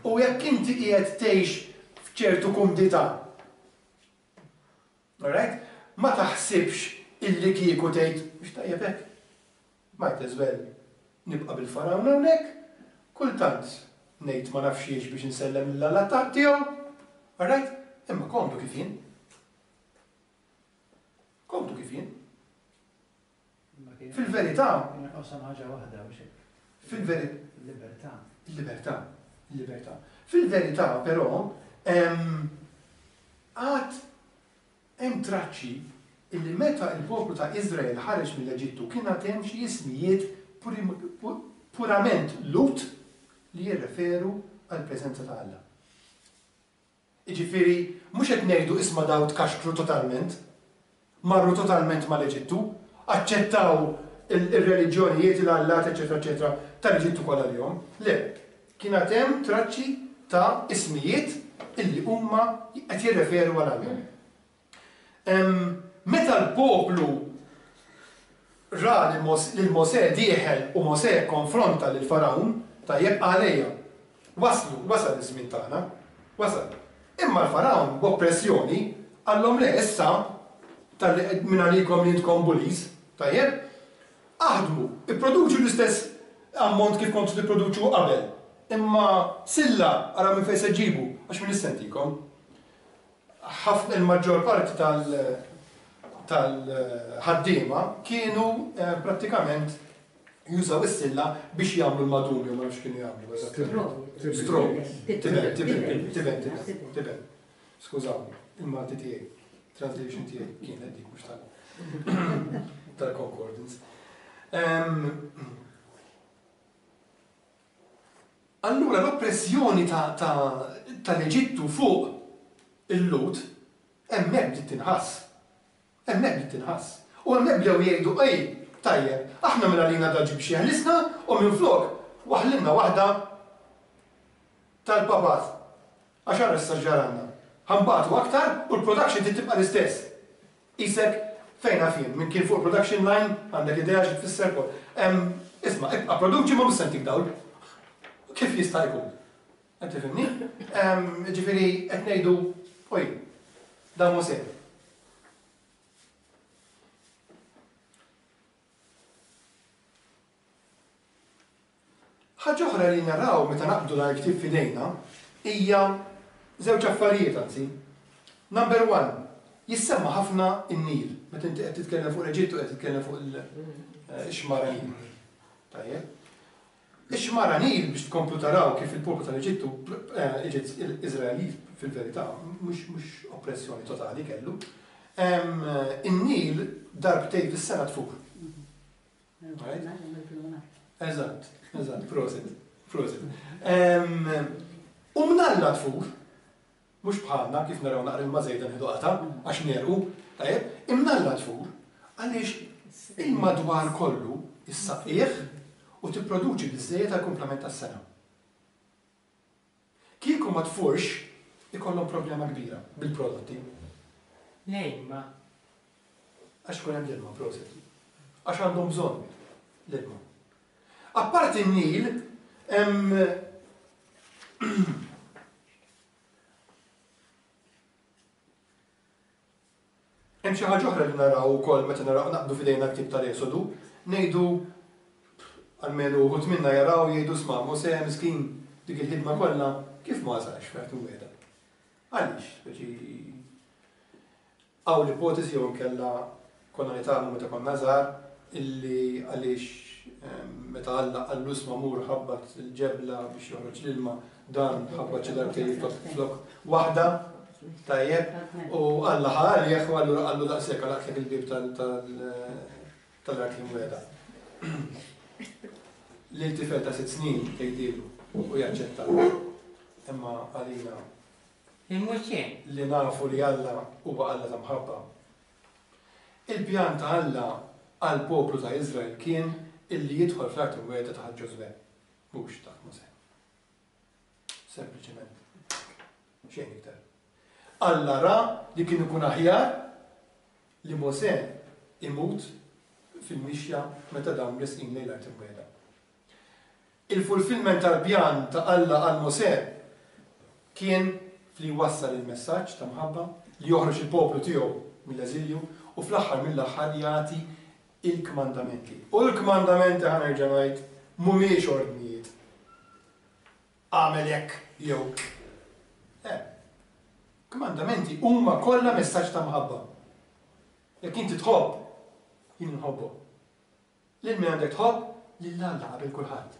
U jekk inti qiegħed tgħix f'ċertu kumdità. Alright? Ma taħsibx illi kieku tgħid mhux tajjeb hekk. Might as well nibqa' bil-farawn hawnhekk, kultant ngħid ma nafx jiex biex insellem lill-Alla tiegħu. Alright? Imma komdu kif jien. Komdu kif jien. Fil-verità. Qosam ħaġa waħda biex hekk. Fil-verità. Il-libertà. Il-libertà. Il-libertà. Fil-verità però għad hemm traċċi illi meta il-poplu ta' Iżrael ħareġ mill-Eġittu kien għad hemm xi ismijiet purament Lut li jirreferu għall-preżenza ta' Alla. Jiġifieri mhux qed ngħidu isma' daw tkaxkru totalment, marru totalment mal-Eġittu, aċċettaw il-reliġjonijiet, il-allat, eċetera, eċetera, tal-Eġittu kollha lihom. Le, kien għad hemm traċċi ta' ismijiet illi huma qed jirreferu għal Alla. Meta l-poplu ra lil Mosè dieħel u Mosè konfronta lil Farawn, tajjeb għalejja. Waslu, wasal iż-żmien tagħna, wasal. Imma l-Farawn b'oppressjoni qallhom le issa tal-li minn għalikom li intkom bullies, tajjeb, aħdmu, ipproduċu l-istess ammont kif kontu tipproduċu qabel. Imma silla ara minn fejn se ġibu, għax minn issentikom. Ħafna il-maġġor parti tal-ħaddiema kienu prattikament Jużaw is-silla biex jagħmlu l-madum jew ma nafx kienu jagħmlu. Straw. Tiben, tiben, tiben, tiben. Skużawni, il-Malti tiegħi, translation tiegħi kienet dik mhux tal tal-concordance. Allura l-oppressjoni tal-Eġittu fuq il-Lut hemmhekk bdiet tinħass. Hemmhekk bdiet tinħass. U hemmhekk bdew jgħidu ej, tajjeb, aħna minn għalina daġi biex jeħlisna u minflok waħlinna waħda tal-papat. Għax ara issa ġaranna. Ħambatu aktar u l-production trid tibqa' l-istess. Isek fejn għafin, minn kien fuq production line għandek idea xi tfisser kol. Isma' ibqa' produċi ma mhux se ntik dawl. Kif jista' jkun? Qed tifhimni? Ġifieri qed ngħidu, oj, dan mhu sew. Ħaġa oħra li naraw meta naqbdu l-ktieb f'idejna hija żewġ affarijiet anzi. Number one, jissemma ħafna n-Nil. Meta inti qed titkellem fuq l-Eġittu qed titkellem fuq ix-xmara Nil. Tajjeb. Ix-xmara Nil biex tkomplu taraw kif il-poplu tal-Eġittu, Iżraeli fil-verità, mhux mhux oppressjoni totali kellu. In-Nil darbtejn fis-sena tfur. Eżatt, eżatt, prosit, prosit. U mnalla tfur, mhux bħalna kif naraw naqra ilma żejda nieħdu qata' għax nerqu, tajjeb, imnalla tfur għaliex il-madwar kollu issaqqieh u tipproduċi biżżejjed għall-kumplament tas-sena. Kieku ma tfurx ikollhom problema kbira bil-prodotti. L-ilma. Għax ikun hemm l-ilma, prosit. Għax għandhom bżonn l-ilma. Apparti n-Nil, hemm hemm xi ħaġa oħra li naraw ukoll meta naraw naqbdu f'idejna ktieb tal-Esodu, ngħidu almenu uħud minna jaraw jgħidu sma' Mosè miskin dik il-ħidma kollha kif ma wasalx fl-art imwiegħda. Għaliex? Speċi hawn l-ipotesi jew inkella konna nitgħallmu meta konna żgħar illi għaliex meta Alla qallu sma' mur ħabbat il-ġebla biex joħroġ l-ilma, dan ħabbat xi darbtejn flok waħda, tajjeb, u Alla ħa għalih u allura qallu daqshekk għalaqtlek il-bieb tal-art imwiegħda. Lil tifel ta' sitt snin tgħidilu u jaċċetta. Imma għalina li nafu li Alla huwa Alla ta' mħabba. Il-pjan ta' Alla għall-poplu ta' Iżrael kien illi jidħol fl-art imwiegħda taħt Ġożwè, mhux taħt Mosè. Sempliċement. Xejn iktar. Alla ra li kien ikun aħjar li Mosè imut fil-mixja meta dawn resqin lejn l-art imwiegħda. Il-fulfillment tal-pjan ta' Alla għal Mosè kien fli jwassal il-messaġġ ta' mħabba, li joħroġ il-poplu tiegħu mill-eżilju u fl-aħħar mill-aħħar jagħti il-kmandamenti. U l-kmandamenti ħa nerġa' ngħid mhumiex ordnijiet. Agħmel hekk jew le. Kmandamenti huma kollha messaġġ ta' mħabba. Jekk inti tħobb, jien nħobbok. Lil min għandek tħobb? Lil Alla qabel kulħadd.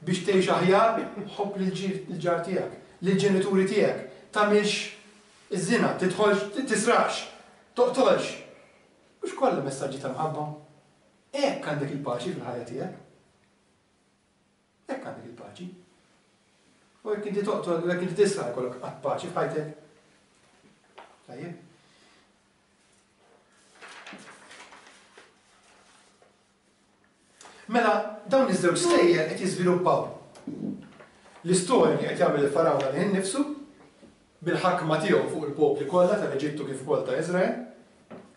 Biex tgħix aħjar, ħobb lill-ġar tiegħek, lill-ġenituri tiegħek, tagħmilx iż-żina, tidħolx, tisraqx, toqtolx. Mhux kollha messaġġi ta' mħabba. Hekk għandek il-paċi fil-ħajja tiegħek. Hekk għandek il-paċi. U jekk inti toqtol, u jekk inti tisraq jkollok qatt paċi f'ħajtek. Tajjeb. Mela, dawn iż-żewġ stejjer qed jiżviluppaw. L-istorja li qed jagħmel il-Farawna lih innifsu bil-ħakma tiegħu fuq il-popli kollha tal-Eġittu kif ukoll ta' Iżrael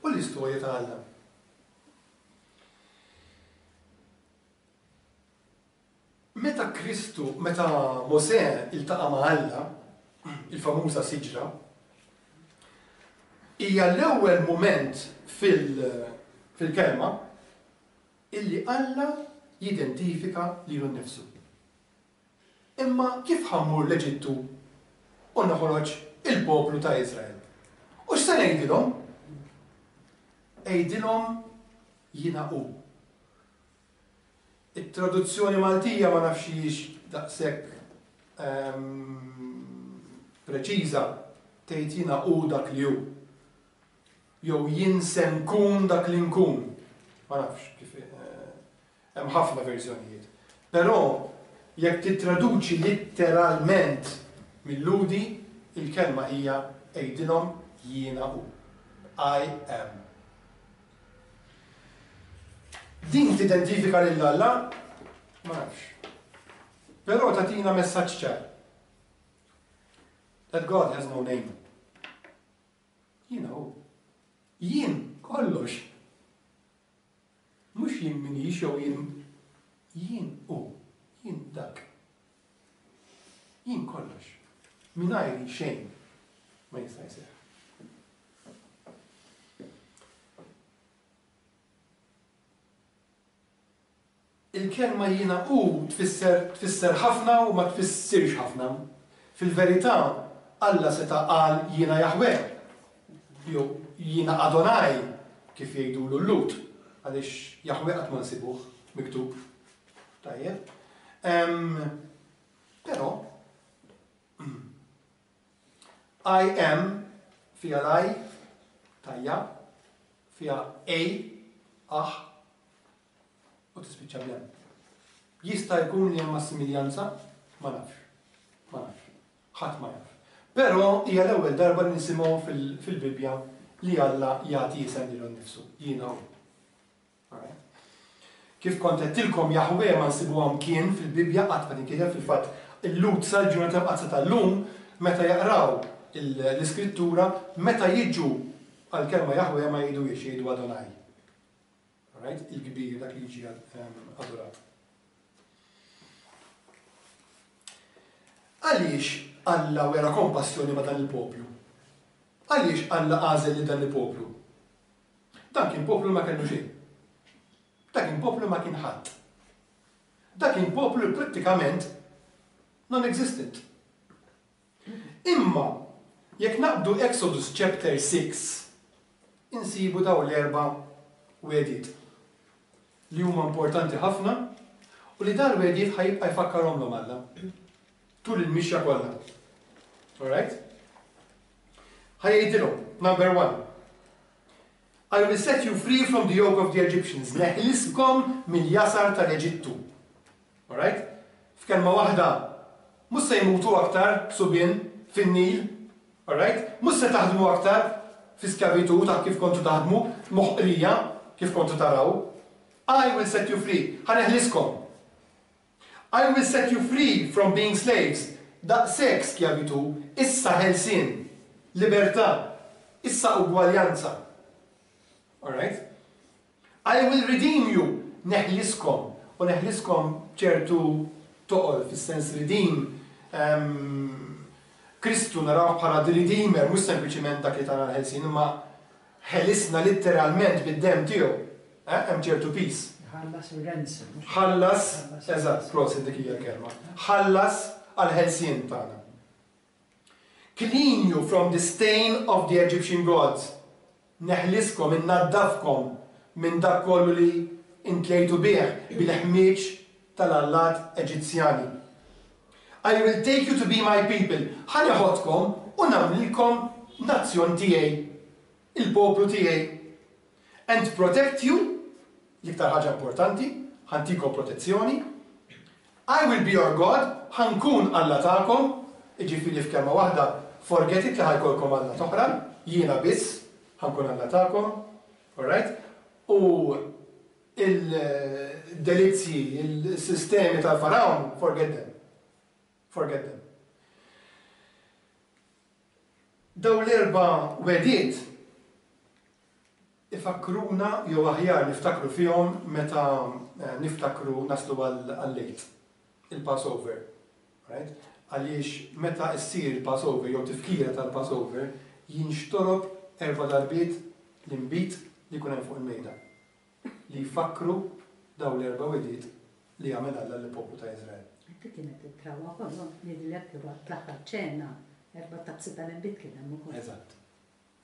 u l-istorja ta' Alla. Meta Kristu, meta Mosè iltaqa' ma' Alla, il-famuża siġra, hija l-ewwel mument fil-kelma illi Alla jidentifika lilu nnifsu. Imma kif ħammur l-Eġittu u noħroġ il-poplu ta' Iżrael? U x'se ngħidilhom? Għidilhom jiena hu. It-traduzzjoni Maltija ma nafx hijiex daqshekk ehm, preċiża, tgħid jiena hu dak li hu. Jew jien se nkun dak li nkun. Ma nafx kif eh, hemm ħafna verżjonijiet. Però jekk tittraduċi litteralment mill-Lhudi, il-kelma hija għidilhom jiena hu. I am. Din tidentifika lil Alla? Ma nafx. Però tagħtina messaġġ ċar. That God has no name. Jiena hu. Jien kollox. Mhux jien minix jew jien jien hu. Jien dak. Jien kollox. Mingħajri xejn ma jista' jseħħ. Il-kelma jiena hu tfisser tfisser ħafna u ma tfissirx ħafna. Fil-verità, Alla seta' qal jiena Jaħweh, jew jiena Adonai, kif jgħidulu l-Lhud, għaliex Jaħweh qatt ma nsibuh miktub. Tajjeb. Però, I am fiha l-I, tajja, fiha A, ah, u tispiċċa bl-M. Jista' jkun li hemm assimiljanza? Ma nafx. Ma nafx. Ħadd ma jaf. Però hija l-ewwel darba li nisimgħu fil-Bibbja li Alla jagħti isem lilu nnifsu. Jiena hu. Kif kont għedtilkom Jaħweh ma nsibuha mkien fil-Bibbja qatt ma tinkiteb fil-fatt il-Lhud sal-ġurnata mqaddsa tal-lum meta jaqraw l-Iskrittura meta jiġu għall-kelma Jaħweh ma jgħiduhiex jgħidu Adonai. Alright? Il-kbir dak li jiġi adorat. Għaliex Alla wera kompassjoni ma' dan il-poplu? Għaliex Alla għażel lil dan il-poplu? Dan kien poplu li ma kellu xejn. Dak kien poplu ma kien ħadd. Dak kien poplu li prattikament non-existent. Imma jekk naqbdu Exodus chapter six, insibu dawn l-erba' wegħdiet li huma importanti ħafna u li dan l-wegħdiet ħa jibqa' jfakkarhomlhom Alla tul il-mixja kollha. Alright? Ħa jgħidilhom, number one, I will set you free from the yoke of the Egyptians, neħliskom mill-jasar tal-Eġittu. Alright? F'kelma waħda, mhux se jmutu aktar subien fin-Nil, alright? Mhux se taħdmu aktar fi skjavitu ta' kif kontu taħdmu, moħqrija kif kontu taraw. I will set you free, ħa neħliskom. I will set you free from being slaves, daqshekk skjavitu, issa ħelsien, libertà, issa ugwaljanza. Alright? I will redeem you, neħliskom, u neħliskom ċertu toqol fis-sens redeem. Um, Kristu naraw bħala the Redeemer, mhux sempliċiment dak li tana l-ħelsien, imma ħelisna litteralment bid-demm tiegħu. Eh, hemm ċertu peace. Ħallas ir-ransom. Ħallas, eżatt, prosit dik hija l-kelma. Ħallas għall-ħelsien tagħna. Clean you from the stain of the Egyptian gods. Neħliskom, innaddafkom minn dak kollu li intlejtu bih bil-ħmieġ tal-allat Eġizzjani. I will take you to be my people. Ħa neħodkom u nagħmlilkom nazzjon tiegħi, il-poplu tiegħi. And protect you, l-iktar ħaġa importanti, ħantikom protezzjoni. I will be your God, ħankun Alla tagħkom, jiġifieri f'kelma waħda, forget it li ħajkolkom Alla oħra, jiena biss ħankun Alla tagħkom, alright? U il-delizzji, il-sistemi tal-Farawn, forget them. Forget them. Daw l-erba' wegħdiet ifakkruna jew aħjar niftakru fihom meta niftakru naslu għal-Lejt, il-Passover. Right? Għaliex meta issir il-Passover jew tifkira tal-Passover jinxtorob erba' darbiet l-inbid li jkun hemm fuq il-mejda li jfakkru daw l-erba' wegħdiet li għamel Alla lill-poplu ta' Iżrael. Dik kienet it-trawa kollha ngħidilek waqt l-aħħar ċena erba' tazzi tal-inbid kien hemm ukoll. Eżatt.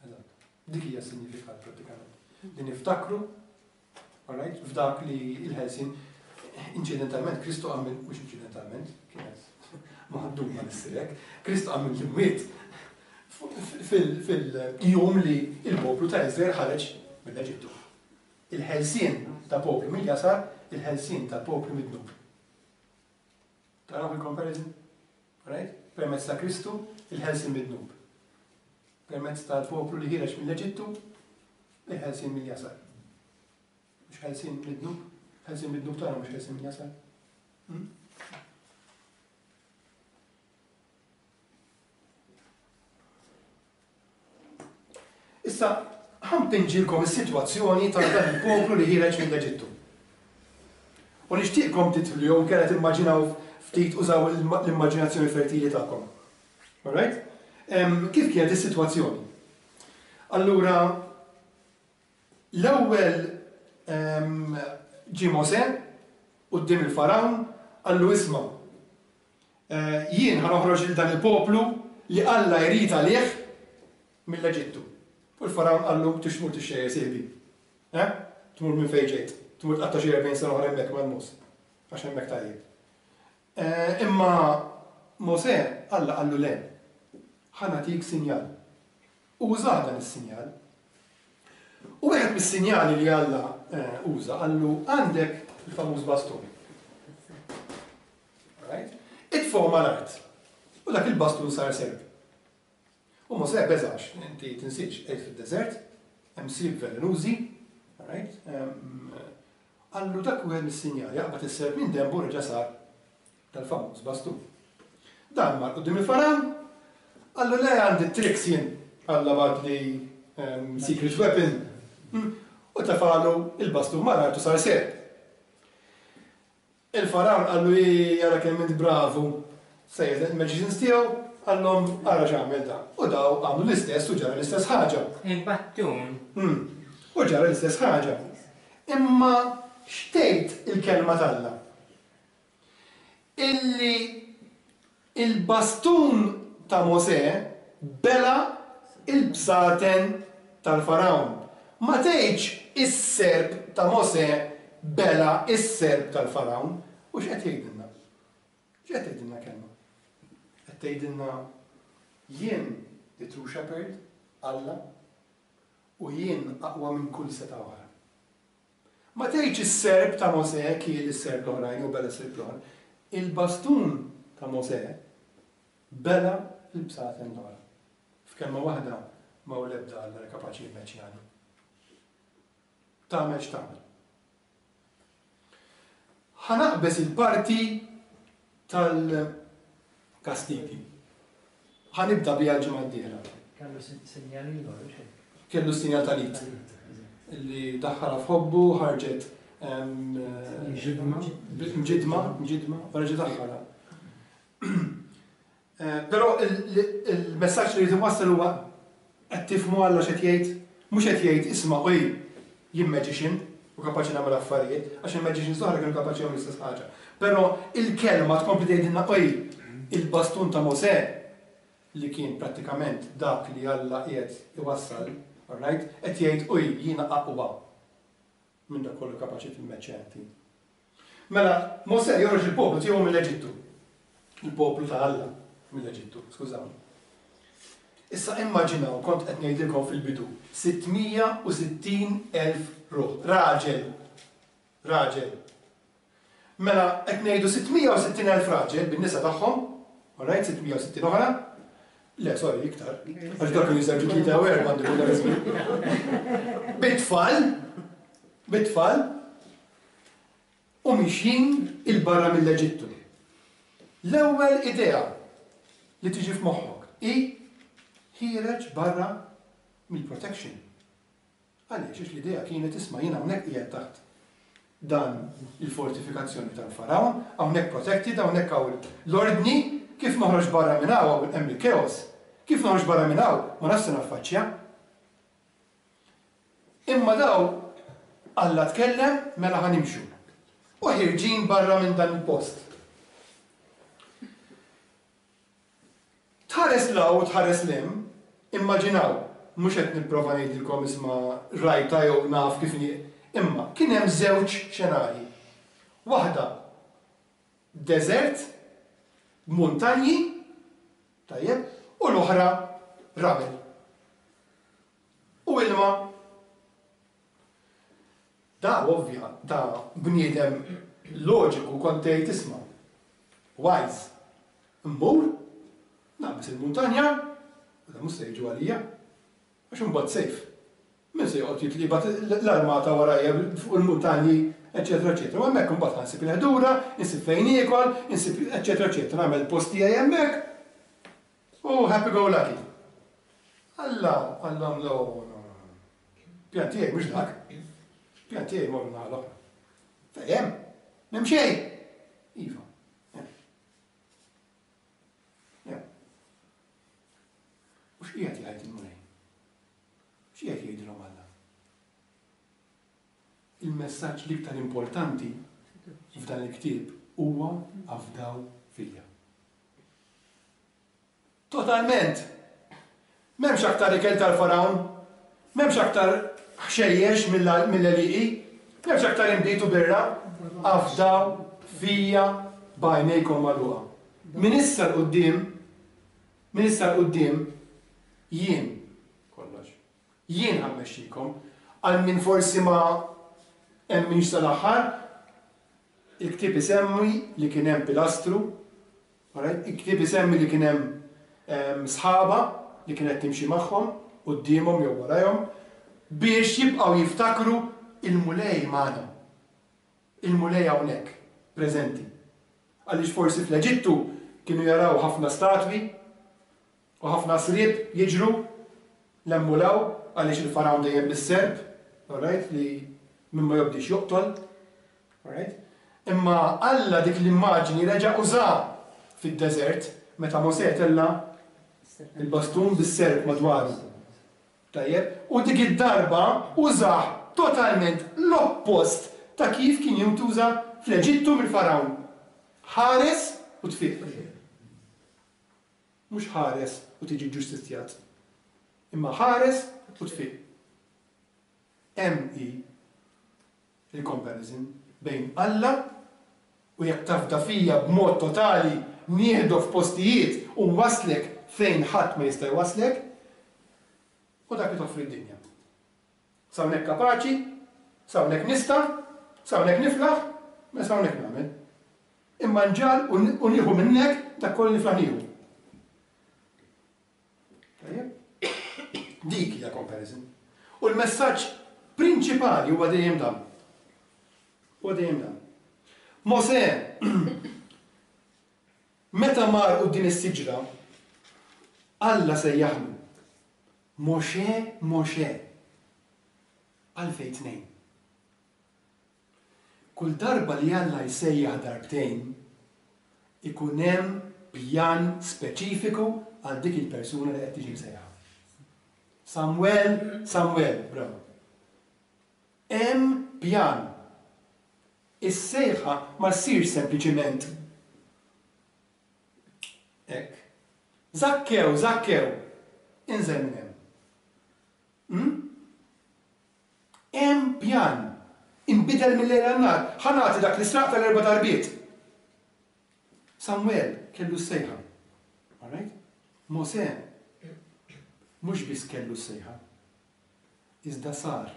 Eżatt. Dik hija s-sinifikat prattikament. Li niftakru, alright, f'dak li l-ħelsien. Inċidentalment, Kristu qam minn, mhux inċidentalment, kienet maħduma nissirek, Kristu qam mill-imwiet fil-jum li il-poplu ta' Izrael ħareġ mill-Eġittu. Il-ħelsien ta' poplu mill-jasar, il-ħelsien ta' poplu mid-dnub. Taraw il-comparison? Right? Permezz ta' Kristu, il-ħelsien mid-dnub. Permezz tal-poplu li ħireġ mill-Eġittu, il-ħelsien mill-jasar. Mhux ħelsien mid-dnub? Ħelsien mid-dnub tagħna mhux ħelsien mill-jasar. Hmm? Issa, ħa npinġilkom is-sitwazzjoni ta' dan il-poplu li ħireġ mill-Eġittu. U nixtieqkom titlu jew inkella timmaġinaw ftit użaw l-immaġinazzjoni fertili tagħkom. Alright? Kif kienet is-sitwazzjoni? Allura, l-ewwel ġie Mosè quddiem il-Farawn, qallu isma', eh, jien ħa noħroġ lil dan il-poplu li Alla jrid għalih mill-Eġittu. U l-Farawn qallu tix tmur tixxejjer sieħbi. Eh? Tmur minn fejn ġejt. Tmur tqatta' xi erbgħin sena oħra hemmhekk mal-mus. Għax hemmhekk tajjeb. Eh, imma Mosè Alla qallu le. Ħa nagħtik sinjal. U użah dan is-sinjal. U wieħed mis-sinjali li Alla eh, uża qallu għandek il-famuż bastun. Right? Itfgħu mal-art. U dak il-bastun sar serp. U Mosè beżax, inti tinsiex, qed fid-deżert, hemm sriep velenużi, right? Qallu dak wieħed mis-sinjali, jaqbad is-serp minn denbu reġa' sar tal-famuż bastun. Dan mar quddiem il-Farawn, qallu le għandi tricks jien, Alla bagħatli secret weapon. U tefalu il-bastun mal-art u sar serp. Il-Farawn qallu jara kemm int bravu, sejjaħ il-magicians tiegħu, qallhom ara x'għamel da. U daw għamlu l-istess u ġara l-istess ħaġa. Il-battun. U ġara l-istess ħaġa. Imma x'tgħid il-kelma t'Alla? Illi il-bastun ta' Mosè bela il-bsaten tal-Farawn. Ma tgħidx is-serp ta' Mosè bela is-serp tal-Farawn. U x'qed jgħidilna? X'qed tgħidilna kelma? Qed tgħidilna jien the true shepherd, Alla, u jien aqwa minn kull seta' oħra. Ma tgħidx is-serp ta' Mosè kiel is-serp l-oħrajn u bela s-serp l-oħra. Il-bastun ta' Mosè bela l-bsaten l-oħra. F'kelma waħda ma hu l-ebda Alla li kapaċi jimmeċjani. Tagħmel x'tagħmel. Ħa naqbeż il-parti tal-kastigi. Ħa nibda biha l-ġimgħa d-dieħla. Kellu sinjal ieħor, hux hekk? Kellu sinjal tal-id. Li daħħalha f'ħobbu, ħarġet Mġidma. Mġidma, mġidma, u reġa' daħħalha. Però il-messaġġ li jrid iwassal huwa qed tifhmu Alla x'qed jgħid, mhux qed jgħid isma' oj jien magician u kapaċi nagħmel affarijiet, għax il-magicians oħra kienu kapaċi jagħmlu l-istess ħaġa. Però il-kelma tkompli tgħidilna oj il-bastun ta' Mosè li kien prattikament dak li Alla qiegħed iwassal, all right, qed jgħid oj jiena aqwa minn dak kollu kapaċi timmeċċja inti. Mela, Mosè joħroġ il-poplu tiegħu mill-Eġittu. Il-poplu ta' Alla mill-Eġittu, skużawni. Issa immaġinaw, kont qed ngħidilkom fil-bidu, sittmija u sittin elf ruħ, raġel, raġel. Mela qed ngħidu sittmija u sittin elf raġel bin-nisa tagħhom, all right, sittmija u sittin oħra. Le, sorry, iktar. Għax dak kienu jiżewġu tlieta u erba' għandu dak iż-żmien. Bit-tfal, bit-tfal, u mixjin il-barra mill-Eġittu. L-ewwel idea li tiġi f'moħħok hi ħiereġ barra mill-protection. Għaliex, għax l-idea kienet isma' jien hawnhekk qiegħed taħt dan il-fortifikazzjoni tal-Farawn, hawnhekk protected, hawnhekk hawn l-ordni, kif noħroġ barra minn hawn hemm il-chaos. Kif noħroġ barra minn hawn ma nafx se naffaċċja. Imma daw Alla tkellem mela ħa nimxu. U ħirġin barra minn dan il-post. Tħares law u tħares lem, immaġinaw, mhux qed nipprova ngħidilkom isma' rajta jew naf kif inhi, imma kien hemm żewġ xenarji. Waħda deżert, muntanji, tajjeb, u l-oħra ramel. U ilma. Da ovvja, da bniedem loġiku kont tgħid isma'. Wise. Immur, naqbeż il-muntanja, u da mhux se jiġu għalija, għax imbagħad safe. Min se joqgħod jitlibat l-armata warajja fuq il-muntanji, eċetera, eċetera. U hemmhekk imbagħad ħa nsib il-ħdura, insib fejn niekol, insib eċetera, eċetera. Nagħmel post tiegħi hemmhekk. U happy go lucky. Alla, Alla, no, no, no. Pjan tiegħi mhux dak. Pjan tiegħi morru naħa l-oħra. Fejn? M'hemm xejn. Iva. Ja. U x'qiegħed jgħid il-Mulej? X'qiegħed jgħidilhom Alla? Il-messaġġ l-iktar importanti f'dan il-ktieb huwa afdaw fija. Totalment! M'hemmx aktar ikel tal-farawn, m'hemmx aktar ħxejjex mill-għelieqi, m'hemmx aktar inbid u birra, afdaw fija b'għajnejkom magħluqa. Min issa 'l quddiem, min issa 'l quddiem, jien kollox. Jien ħa mmexxikom, għal min forsi ma emminx sal-aħħar, il-ktieb isemmi li kien hemm pilastru, alright? Il-ktieb isemmi li kien hemm sħaba li kienet timxi magħhom, quddiemhom jew warajhom, biex jibqgħu jiftakru il-Mulej magħna. Il-Mulej hawnhekk, preżenti. Għaliex forsi fl-Eġittu kienu jaraw ħafna statwi u ħafna sriep jiġru l-emmulaw għaliex il-farawn dejjem bis-serp, alright, li min ma jobdix joqtol, alright? Imma Alla dik l-immaġni reġa' uża fid-deżert meta Mosè tella' il-bastun bis-serp madwaru. Tajjeb, u dik id-darba użah totalment l-oppost ta' kif kien jintuża fl-Eġittu mill-Farawn. Ħares u tfiq. Mhux ħares u tiġi ġustizzjat, imma ħares u tfiq. Hemm hi il-comparison bejn Alla u jekk tafda fija b'mod totali nieħdok f'postijiet u nwaslek fejn ħadd ma jista' jwaslek, u dak li toffri d-dinja. S'hawnhekk kapaċi, s'hawnhekk nista', s'hawnhekk niflaħ, ma s'hawnhekk nagħmel. Imma nġal u nieħu minnek dak kollu niflaħ nieħu. Tajjeb? Dik hija comparison. U l-messaġġ prinċipali huwa dejjem dan. Huwa dejjem dan. Mosè meta mar quddiem is-siġra, Alla sejjaħlu. Mosè, Mosè. Għalfejn tnejn. Kull darba li Alla jsejjaħ darbtejn, ikun hemm pjan speċifiku għal dik il-persuna li qed tiġi msejjaħ. Samuel, Samuel, bravo. Hemm pjan. Is-sejħa ma ssirx sempliċiment hekk. Zakkew, Zakkew, inżel minn hemm. Hmm? Hemm pjan. Inbidel mill-lejl għan-nhar. Ħa nagħti dak li sraq tal-erba' darbiet. Samuel kellu s-sejħa. All right? Mosè mhux biss kellu s-sejħa, iżda sar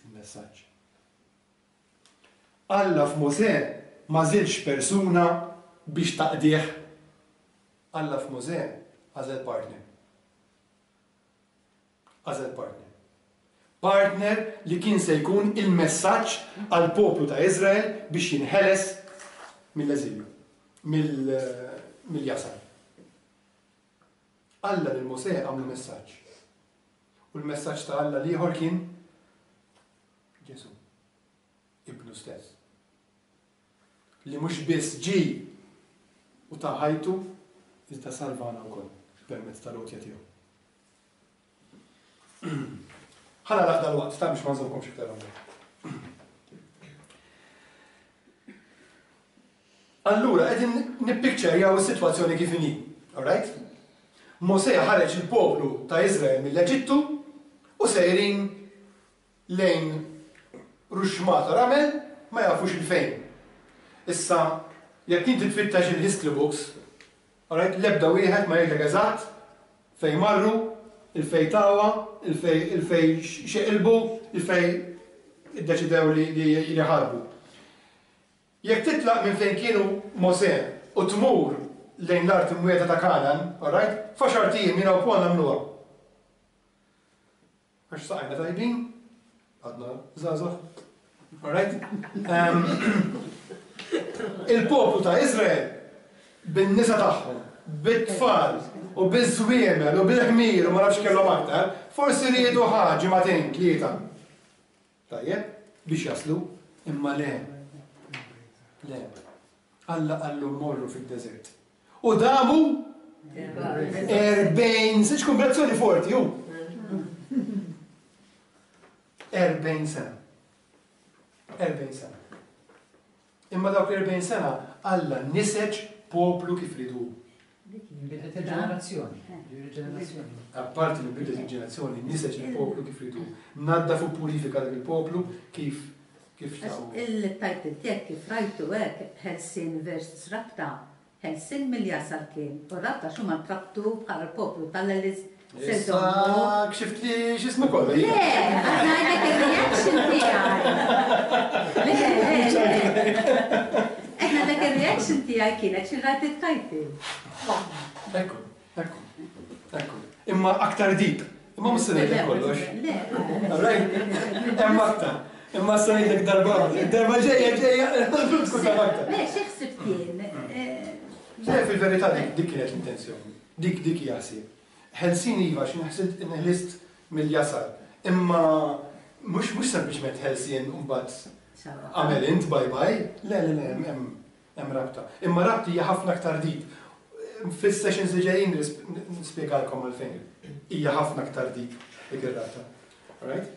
il-messaġġ. Alla f'Mosè m'għażilx persuna biex taqdih. Alla f'Mosè għażel partner. Għażel partner. Partner li kien se jkun il-messaġġ għal poplu ta' Izrael biex jinħeles mill-eżilju, mill-jasar. Alla lil Mosè għamlu messaġġ. U l-messaġġ ta' Alla l-ieħor kien Ġesu, ibnu stess. Li mhux biss ġie u ta ħajtu, iżda salvana wkoll permezz tal-għotja tiegħu. Ħa nagħlaq dal-waqt, ta' biex ma nżommkomx iktar hawnhekk. Allura, qegħdin nippikċerjaw is-sitwazzjoni kif inhi, all right? Mosè ħareġ il-poplu ta' Izrael mill-Eġittu u sejrin lejn ruxmata ramel ma jafux il-fejn. Issa, jekk inti tfittex il-history books, alright, l-ebda wieħed ma jgħidlek eżatt fejn marru, il-fejn tawa, il-fejn xeqilbu, il-fejn iddeċidew li li ħarbu. Jekk titlaq minn fejn kienu Mosè u tmur lejn l-art imwiegħda ta' Kanan, alright, f'għaxart ijiem jiena u Paul nagħmluha. Għax saqajna tajbin, għadna żgħażagħ, alright? Il-poplu ta' Izrael bin-nisa tagħhom, bit-tfal u biż-żwiemel u bil-ħmir u ma nafx kellhom aktar, forsi riedu ħa ġimagħtejn tlieta. Tajjeb, biex jaslu, imma le. Le. Alla qallu morru fid-deżert. U damu erbgħin, siċ kombinazzjoni forti, ju. Erbgħin sena. Erbgħin sena. Imma dawk l-erbgħin sena Alla niseġ poplu kif ridu. Bidlet il-ġenerazzjoni. Il-ġenerazzjoni. Apparti li bidlet il-ġenerazzjoni, niseġ il-poplu kif ridu. Naddaf u purifika dak il-poplu kif kif xtaqu. Il-title tiegħek kif rajtu hekk ħelsien versus rabta, ħelsien mill-jasar kien, u rabta x'huma ntrabtu bħala l-poplu tal-Elis. Issa kxift li x'ismu kollu. Le, ngħidlek ir-reaction tiegħi. Le, le, le. Qed ngħidlek ir-reaction tiegħi kienet xi rajt it-title. Ekku, ekku, ekku. Imma aktar deep. Imma mhux se ngħidlek kollox. Le. Alright? Hemm aktar. Imma se ngħidlek darba, darba ġejja ġejja, tkun taf aktar. Le, xi ħsibt jien? Le, fil-verità dik dik kienet l-intenzjoni. Dik dik hija ħsieb. Ħelsien iva, xi nħsilt inħlist mill-jasar. Imma mhux mhux sempliċement ħelsien u mbagħad għamel int bye bye. Le, le, le, hemm hemm rabta. Imma rabta hija ħafna aktar deep. Fis-sessions li ġejjin nispjegalkom għalfejn. Hija ħafna aktar deep dik ir-rabta. Alright?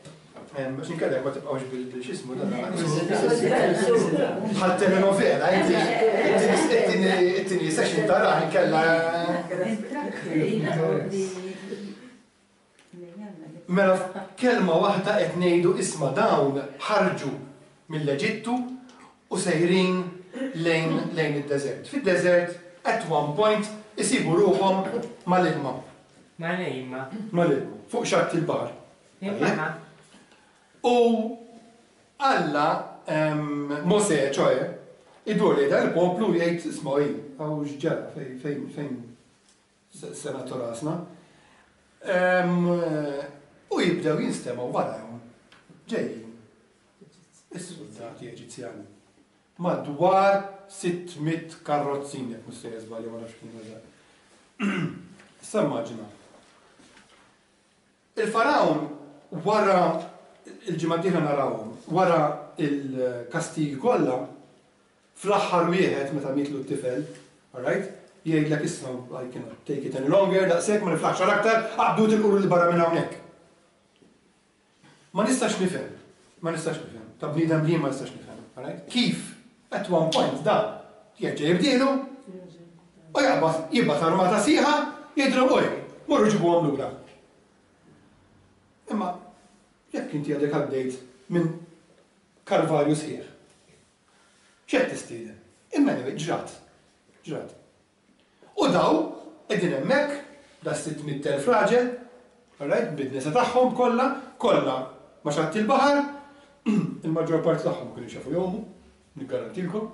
Biex inkellek ma tibqgħux bil-xismu dan. Bħal telenovela, inti it-tieni session tara inkella. Mela kelma waħda qed ngħidu isma' dawn ħarġu mill-Eġittu u sejrin lejn lejn id-deżert. Fid-deżert at one point isibu ruħhom mal-ilma. Mal-ilma. Mal-ilma, fuq xatt il-baħar. Il-baħar. U Alla, Mosè, ċoħe, idur li dan il-poplu jgħid isma' hi, hawn x'ġara fejn fejn fejn se nagħtu rasna. U jibdew jinstemgħu warahom ġejjin is-soldati Eġizzjani. Madwar sitt mitt karrozzin, jekk mhux sejjer żbalja ma nafx kien eżatt. Issa immaġina. Il-Farawn wara il-ġimgħa d-dieħla narawhom, wara il-kastigi kollha, fl-aħħar wieħed meta mietlu t-tifel, alright, jgħidlek issa I cannot take it any longer, daqshekk ma niflaħx għal aktar, aqbdu tilqu lil barra minn hawnhekk. Ma nistax nifhem, ma nistax nifhem, ta' bniedem li ma nistax nifhem, alright? Kif at one point dan jerġa' jibdielu u jaqbad jibgħat armata sieħa jgħidilhom oj, morru ġibuhom lura. Imma jekk inti għadek għaddejt minn kalvarju sħiħ, x'qed tistieden? Imma anyway, ġrat, ġrat. U daw qegħdin hemmhekk, da sitt mitt elf raġel, alright, bid-nisa tagħhom kollha, kollha ma xatt il-baħar, il-maġġor parti tagħhom ma kienux jafu jgħumu, niggarantilkom.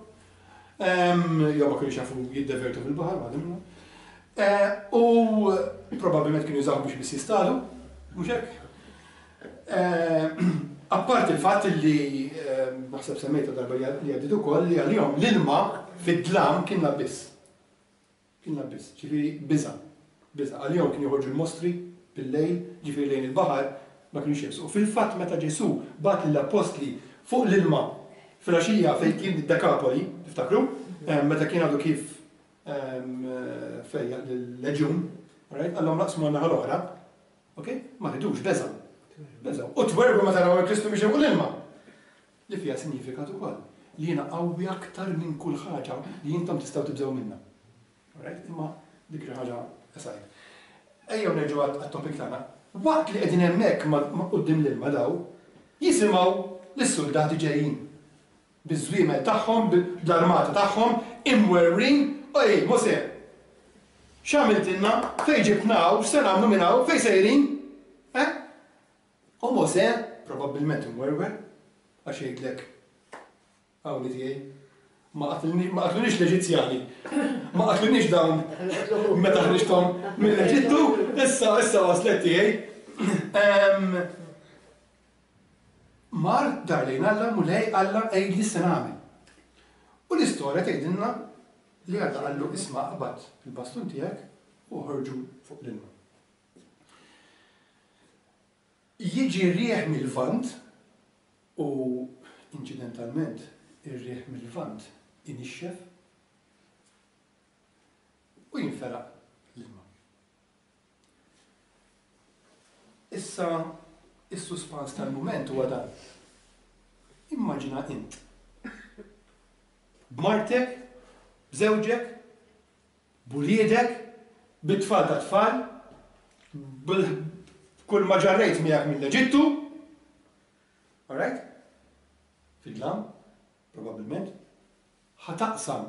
Jew ma kienux jafu jiddevertu fil-baħar, waħda minnhom. U probabbilment kienu jużaw biex biss jistadu, mhux hekk? Apparti il-fatt li naħseb semmejta darba li għaddit ukoll li għalihom l-ilma fid-dlam kien l-abbiss. Kien l-abbiss, ġifieri biża', biża'. Għalihom kien joħorġu l-mostri bil-lejl, ġifieri lejn il-baħar ma kienux jersqu. Fil-fatt meta Ġesù bagħat lill-appostli fuq l-ilma fil-għaxija fejn kien id-Dekapoli, tiftakru? Meta kien għadu kif fejjaq lill-leġjun, right? Għallhom naqsmu għan-naħa l-oħra, ok? Ma ridux, beżgħu. Beżgħu. U twerbu meta raw il-Kristu biex fuq l-ilma. Li fiha sinifikat ukoll li jiena qawwi aktar minn kull ħaġa li intom tistgħu tibżgħu minnha. Alright? Imma dik xi ħaġa aside. Ejjew nerġgħu għat-topic tagħna. Waqt li qegħdin hemmhekk quddiem l-ilma daw, jisimgħu lis-soldati ġejjin Biż-żwiemel tagħhom, bl-armata tagħhom, imwerwrin, oj, Mosè, x'għamiltilna, fejn ġibtna hawn, x'se nagħmlu minn hawn, fejn sejrin? Eh? U Mosè, probabbilment imwerwer, għax jgħidlek, hawn tiegħi, ma qatlunix l-Eġizzjani, ma qatlunix dawn meta ħriġthom mill-Eġittu, issa issa waslet tiegħi. Mar dar lejn Alla, Mulej Alla għidli x'se nagħmel. U l-istorja tgħidilna li Alla qallu isma' aqbad il-bastun tiegħek u ħorġu fuq l-ilma. Jiġi r-riħ mill-Lvant u inċidentalment ir-riħ mill-Lvant inixxef u jinferaq l-ilma. Issa is-suspans tal-mument huwa dan. Immaġina int. B'martek, b'żewġek, b'uliedek, bit-tfal ta' tfal, b'kull ma ġarrejt miegħek mill-Eġittu. All right? Fid-dlam, probabbilment. Ħa taqsam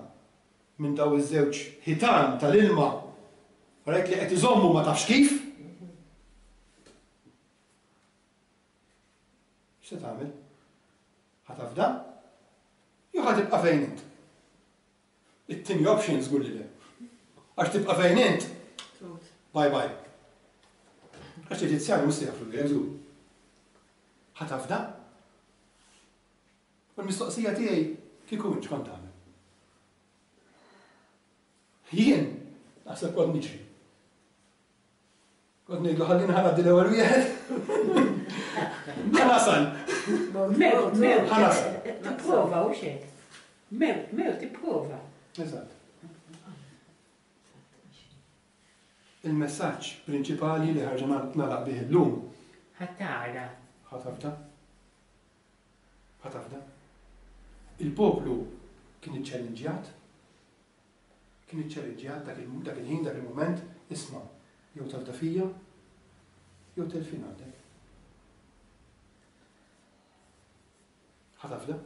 minn daw iż-żewġ ħitan tal-ilma, all right, li qed iżommu ma tafx kif. X'se tagħmel? Ħa tafda? Jew ħa tibqa' fejn int? It-tieni option żgur li le. Għax tibqa' fejn int? Bye bye. Għax l-Eġizzjani mhux se jafru lilek żgur. Ħa tafda? U l-mistoqsija tiegħi kieku int x'kont tagħmel? Jien naħseb kont niġri. Kont ngħidlu ħallini ħa ngħaddi l-ewwel wieħed. Ħa nasal. Mewt, mewt. Ħa nasal. Tipprova u xejn. Mewt, mewt tipprova. Eżatt. Il-messaġġ prinċipali li ħarġa nagħlaq bih illum. Ħa tara. Ħa tafda. Ħa tafda. Il-poplu kien iċċellinġjat. Kien iċċellinġjat dak il-ħin, dak il-mument, isma' jew tafda fija, jew telfin għandek. Ħa tafda?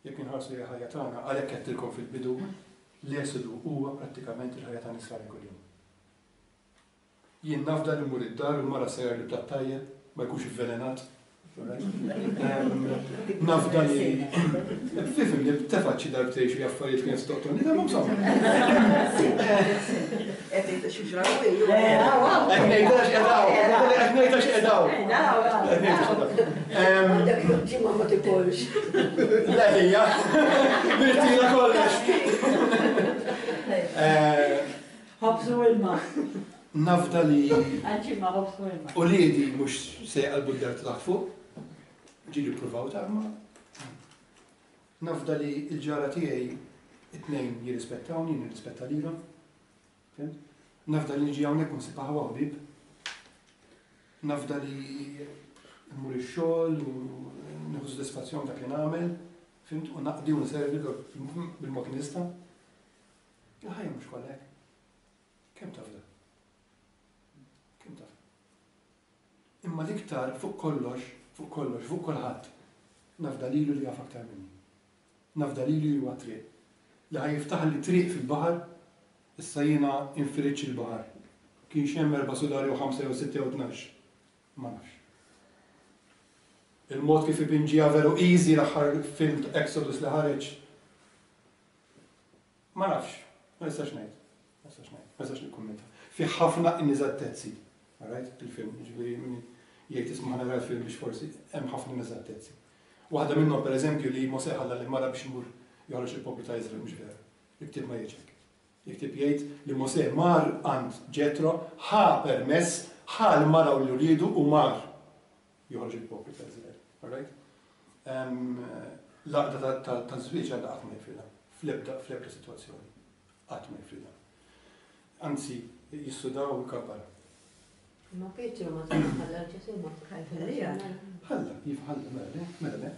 Jekk inħarsu lejn il-ħajja tagħna, għalhekk għedtilkom fil-bidu, l-esodu huwa prattikament il-ħajja ta' Nisrani kuljum. Jien nafda li mmur id-dar u l-mara sejjer li platt tajjeb, ma jkunx ivvelenat. Nafda li fifim li tefgħet xi darbtejn xi affarijiet kienet toqtolni, imma insomma. Qed ngħidha xi ġrawi. Qed ngħidha x'qedaw. Qed ngħidha x'qedaw. Qed ngħidha x'qedaw. Dak ġimgħa ma tikolx. Le hija. Nirtira kollox. Ħobż u ilma. Nafda li Għal-ġimgħa ħobż u ilma. Uliedi mhux se jqalbu d-dar ta' taħt fuq. Ġieli ppruvaw ta' ma. Nafda li l-ġara tiegħi it-tnejn jirrispettawni, nirrispetta lilhom. Fimt? Nafda li niġi hawnhekk u nsib aħwa ħbieb. Nafda li mmur ix-xogħol u nieħu sodisfazzjon dak li nagħmel, fimt? U naqdi u nservi bil-mod li nista'. Il-ħajja mhux kollha hekk. Kemm tafda? Kemm tafda? Imma l-iktar fuq kollox, fuq kollox, fuq kulħadd, nafda lilu li jaf aktar minni. Nafda lilu li huwa triq. Li ħa jiftaħ li triq fil-baħar, issa jiena infiritx il-baħar. Kienx hemm erba' sulari u ħamsa jew sitta jew tnax. Ma nafx. Il-mod kif ipinġiha veru easy l-aħħar film Exodus li ħareġ. Ma nafx, ma nistax ngħid. Ma nistax ngħid, ma nistax nikkummenta. Fi ħafna ineżattezzi. Alright, il-film, ġifieri min jgħid isma' ħa nara l-film biex forsi hemm ħafna ineżattezzi. Waħda minnhom pereżempju li Mosè ħalla lil mara biex imur joħroġ il-poplu ta' Iżrael, mhux vera. Il-ktieb ma jgħidx hekk. Il-ktieb jgħid li Mosè mar għand Ġetro, ħa permess, ħa l-mara u l-uliedu u mar joħroġ il-poplu ta' Iżrael. Alright? L-għaqda ta' żwieġ għadha qatt ma jifridha. Fl-ebda fl-ebda sitwazzjoni. Qatt ma jifridha. Anzi, jissudaw u jkabbar. Ma Pietru ma tantx ħalla Ġesù ma Ħallija. Ħalla, iva ħalla, mela le, mela le.